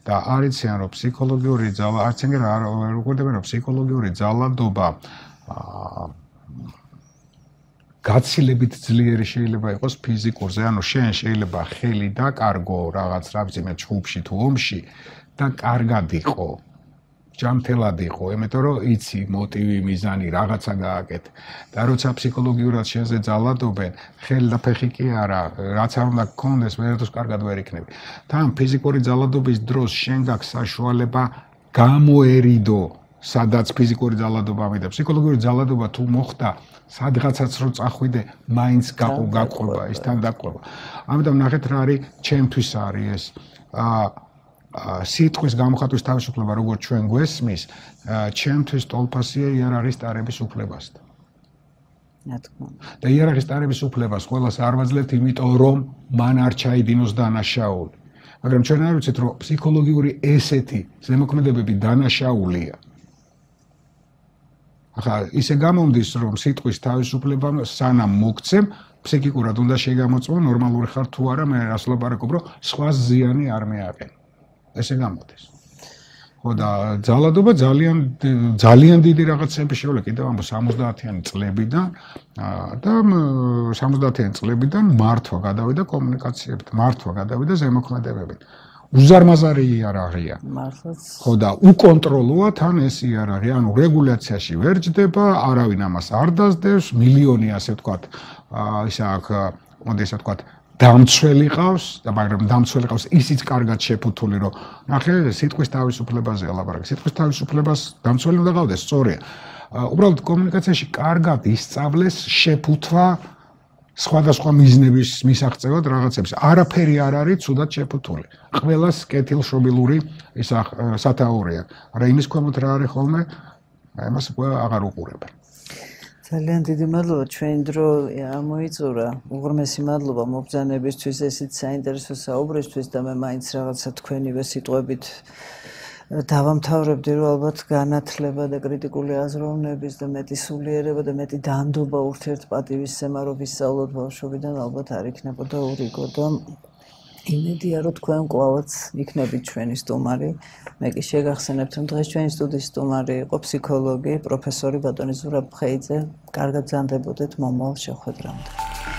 და არიციან რომ ფსიქოლოგიური ძალა, არც ეგრე არ უყურდებენ რომ ფსიქოლოგიური ძალადობა გაცილებით ძლიერი შეიძლება იყოს ფიზიკურზე, ანუ შენ შეიძლება ხელი დაკარგო რაღაც რა ვიცი მე ჩხუბში თუ ომში და კარგად იყო. ჯანმრთელად იყო, იმიტომ რომ იცი მოტივი, მიზანი რაღაცა გააკეთე. და როცა ფსიქოლოგიურად შენზე ძალადობენ, ხელი და ფეხი კი არა, რაც არ უნდა გქონდეს, ვერდოს კარგად ვერ იქნები. თან ფიზიკური ძალადობის დროს შენ გაქვს საშუალება გამოერიდო, სადაც ფიზიკური ძალადობა მიდა. ფსიქოლოგიური ძალადობა თუ მოხდა, სადღაცაც რო წახვიდე, მაინც გაყვება, ის თან დაყვება. ამიტომ ნახეთ რა არის, ჩემთვის არის ეს სიტყვის გამოხატვის თავისუფლება, როგორც ჩვენ გვესმის, ჩემთვის ტოლფასია იარაღის ტარების უფლებასთან. და იარაღის ტარების უფლებას ყველას არ ვაძლევთ, იმიტომ რომ მან არ ჩაიდინოს დანაშაული. მაგრამ ჩვენ არ ვიცით, რომ ფსიქოლოგიური ესეთი ზემოქმედებები დანაშაულია. ახლა ისე გამომდის, რომ სიტყვის თავისუფლება სანამ მოგცემ, ფსიქიკურად უნდა შეგამოწმო, ნორმალური ხარ თუ არა, მე რას ვლაპარაკობ, რომ სხვა ზიანი არ მეაყენ. ესე გამოდის. ხო და ძალადობა ძალიან დიდი რაღაცები შეულა კიდევ ამ 70-იანი წლებიდან და 70-იანი წლებიდან მართვა გადავიდა კომუნიკაციებით, მართვა გადავიდა ზემოქმედებებით. უზარმაზარი იარაღია. მართლაც. ხო და უკონტროლოა თან ეს იარაღი, ანუ რეგულაციაში ვერ ჯდება, არავინ ამას არ დასდევს, მილიონი ასე ვთქვათ, ისა აქ, მოდი ასე ვთქვათ, დამცველი ყავს, და მაგრამ დამცველი ყავს ისიც კარგად შეფუთული, რომ ნახე, სიტყვის თავისუფლებაზე ლაპარაკი. სიტყვის თავისუფლებას დამცველი უნდა ყავდეს, სწორია. უბრალოდ კომუნიკაციაში კარგად ისწავლეს შეფუთვა სხვადასხვა მიზნების მისაღწევად რაღაცებს. არაფერი არ არის ცუდად შეფუთული. ყველას კეთილშობილური სათაურია. მაგრამ იმის ქვემოთ რა არის ხოლმე, ამას აღარ უყურებენ. ძალიან დიდი მადლობა, ჩვენი დრო ამოიწურა. უღრმესი მადლობა მობრძანებისთვის, ესეც საინტერესო საუბრისთვის და მე მაინც რაღაცა თქვენივე სიტყვებით დავამთავრებდი, რომ ალბათ განათლება და კრიტიკული აზროვნების და მეტი სულიერება და მეტი დანდობა ურთიერთპატივისცემა რო ვისწავლოთ ბავშვობიდან, ალბათ არ იქნებოდა ურიგო და იმედია, რომ თქვენ კვლავაც იქნებით ჩვენი სტუმარი. მე კი შეგახსენებთ, რომ დღეს ჩვენი სტუდიის სტუმარი იყო ფსიქოლოგი, პროფესორი ბატონი ზურაბ ხეიძე. კარგად ზანდებოდეთ მომავალ შეხვედრამდე.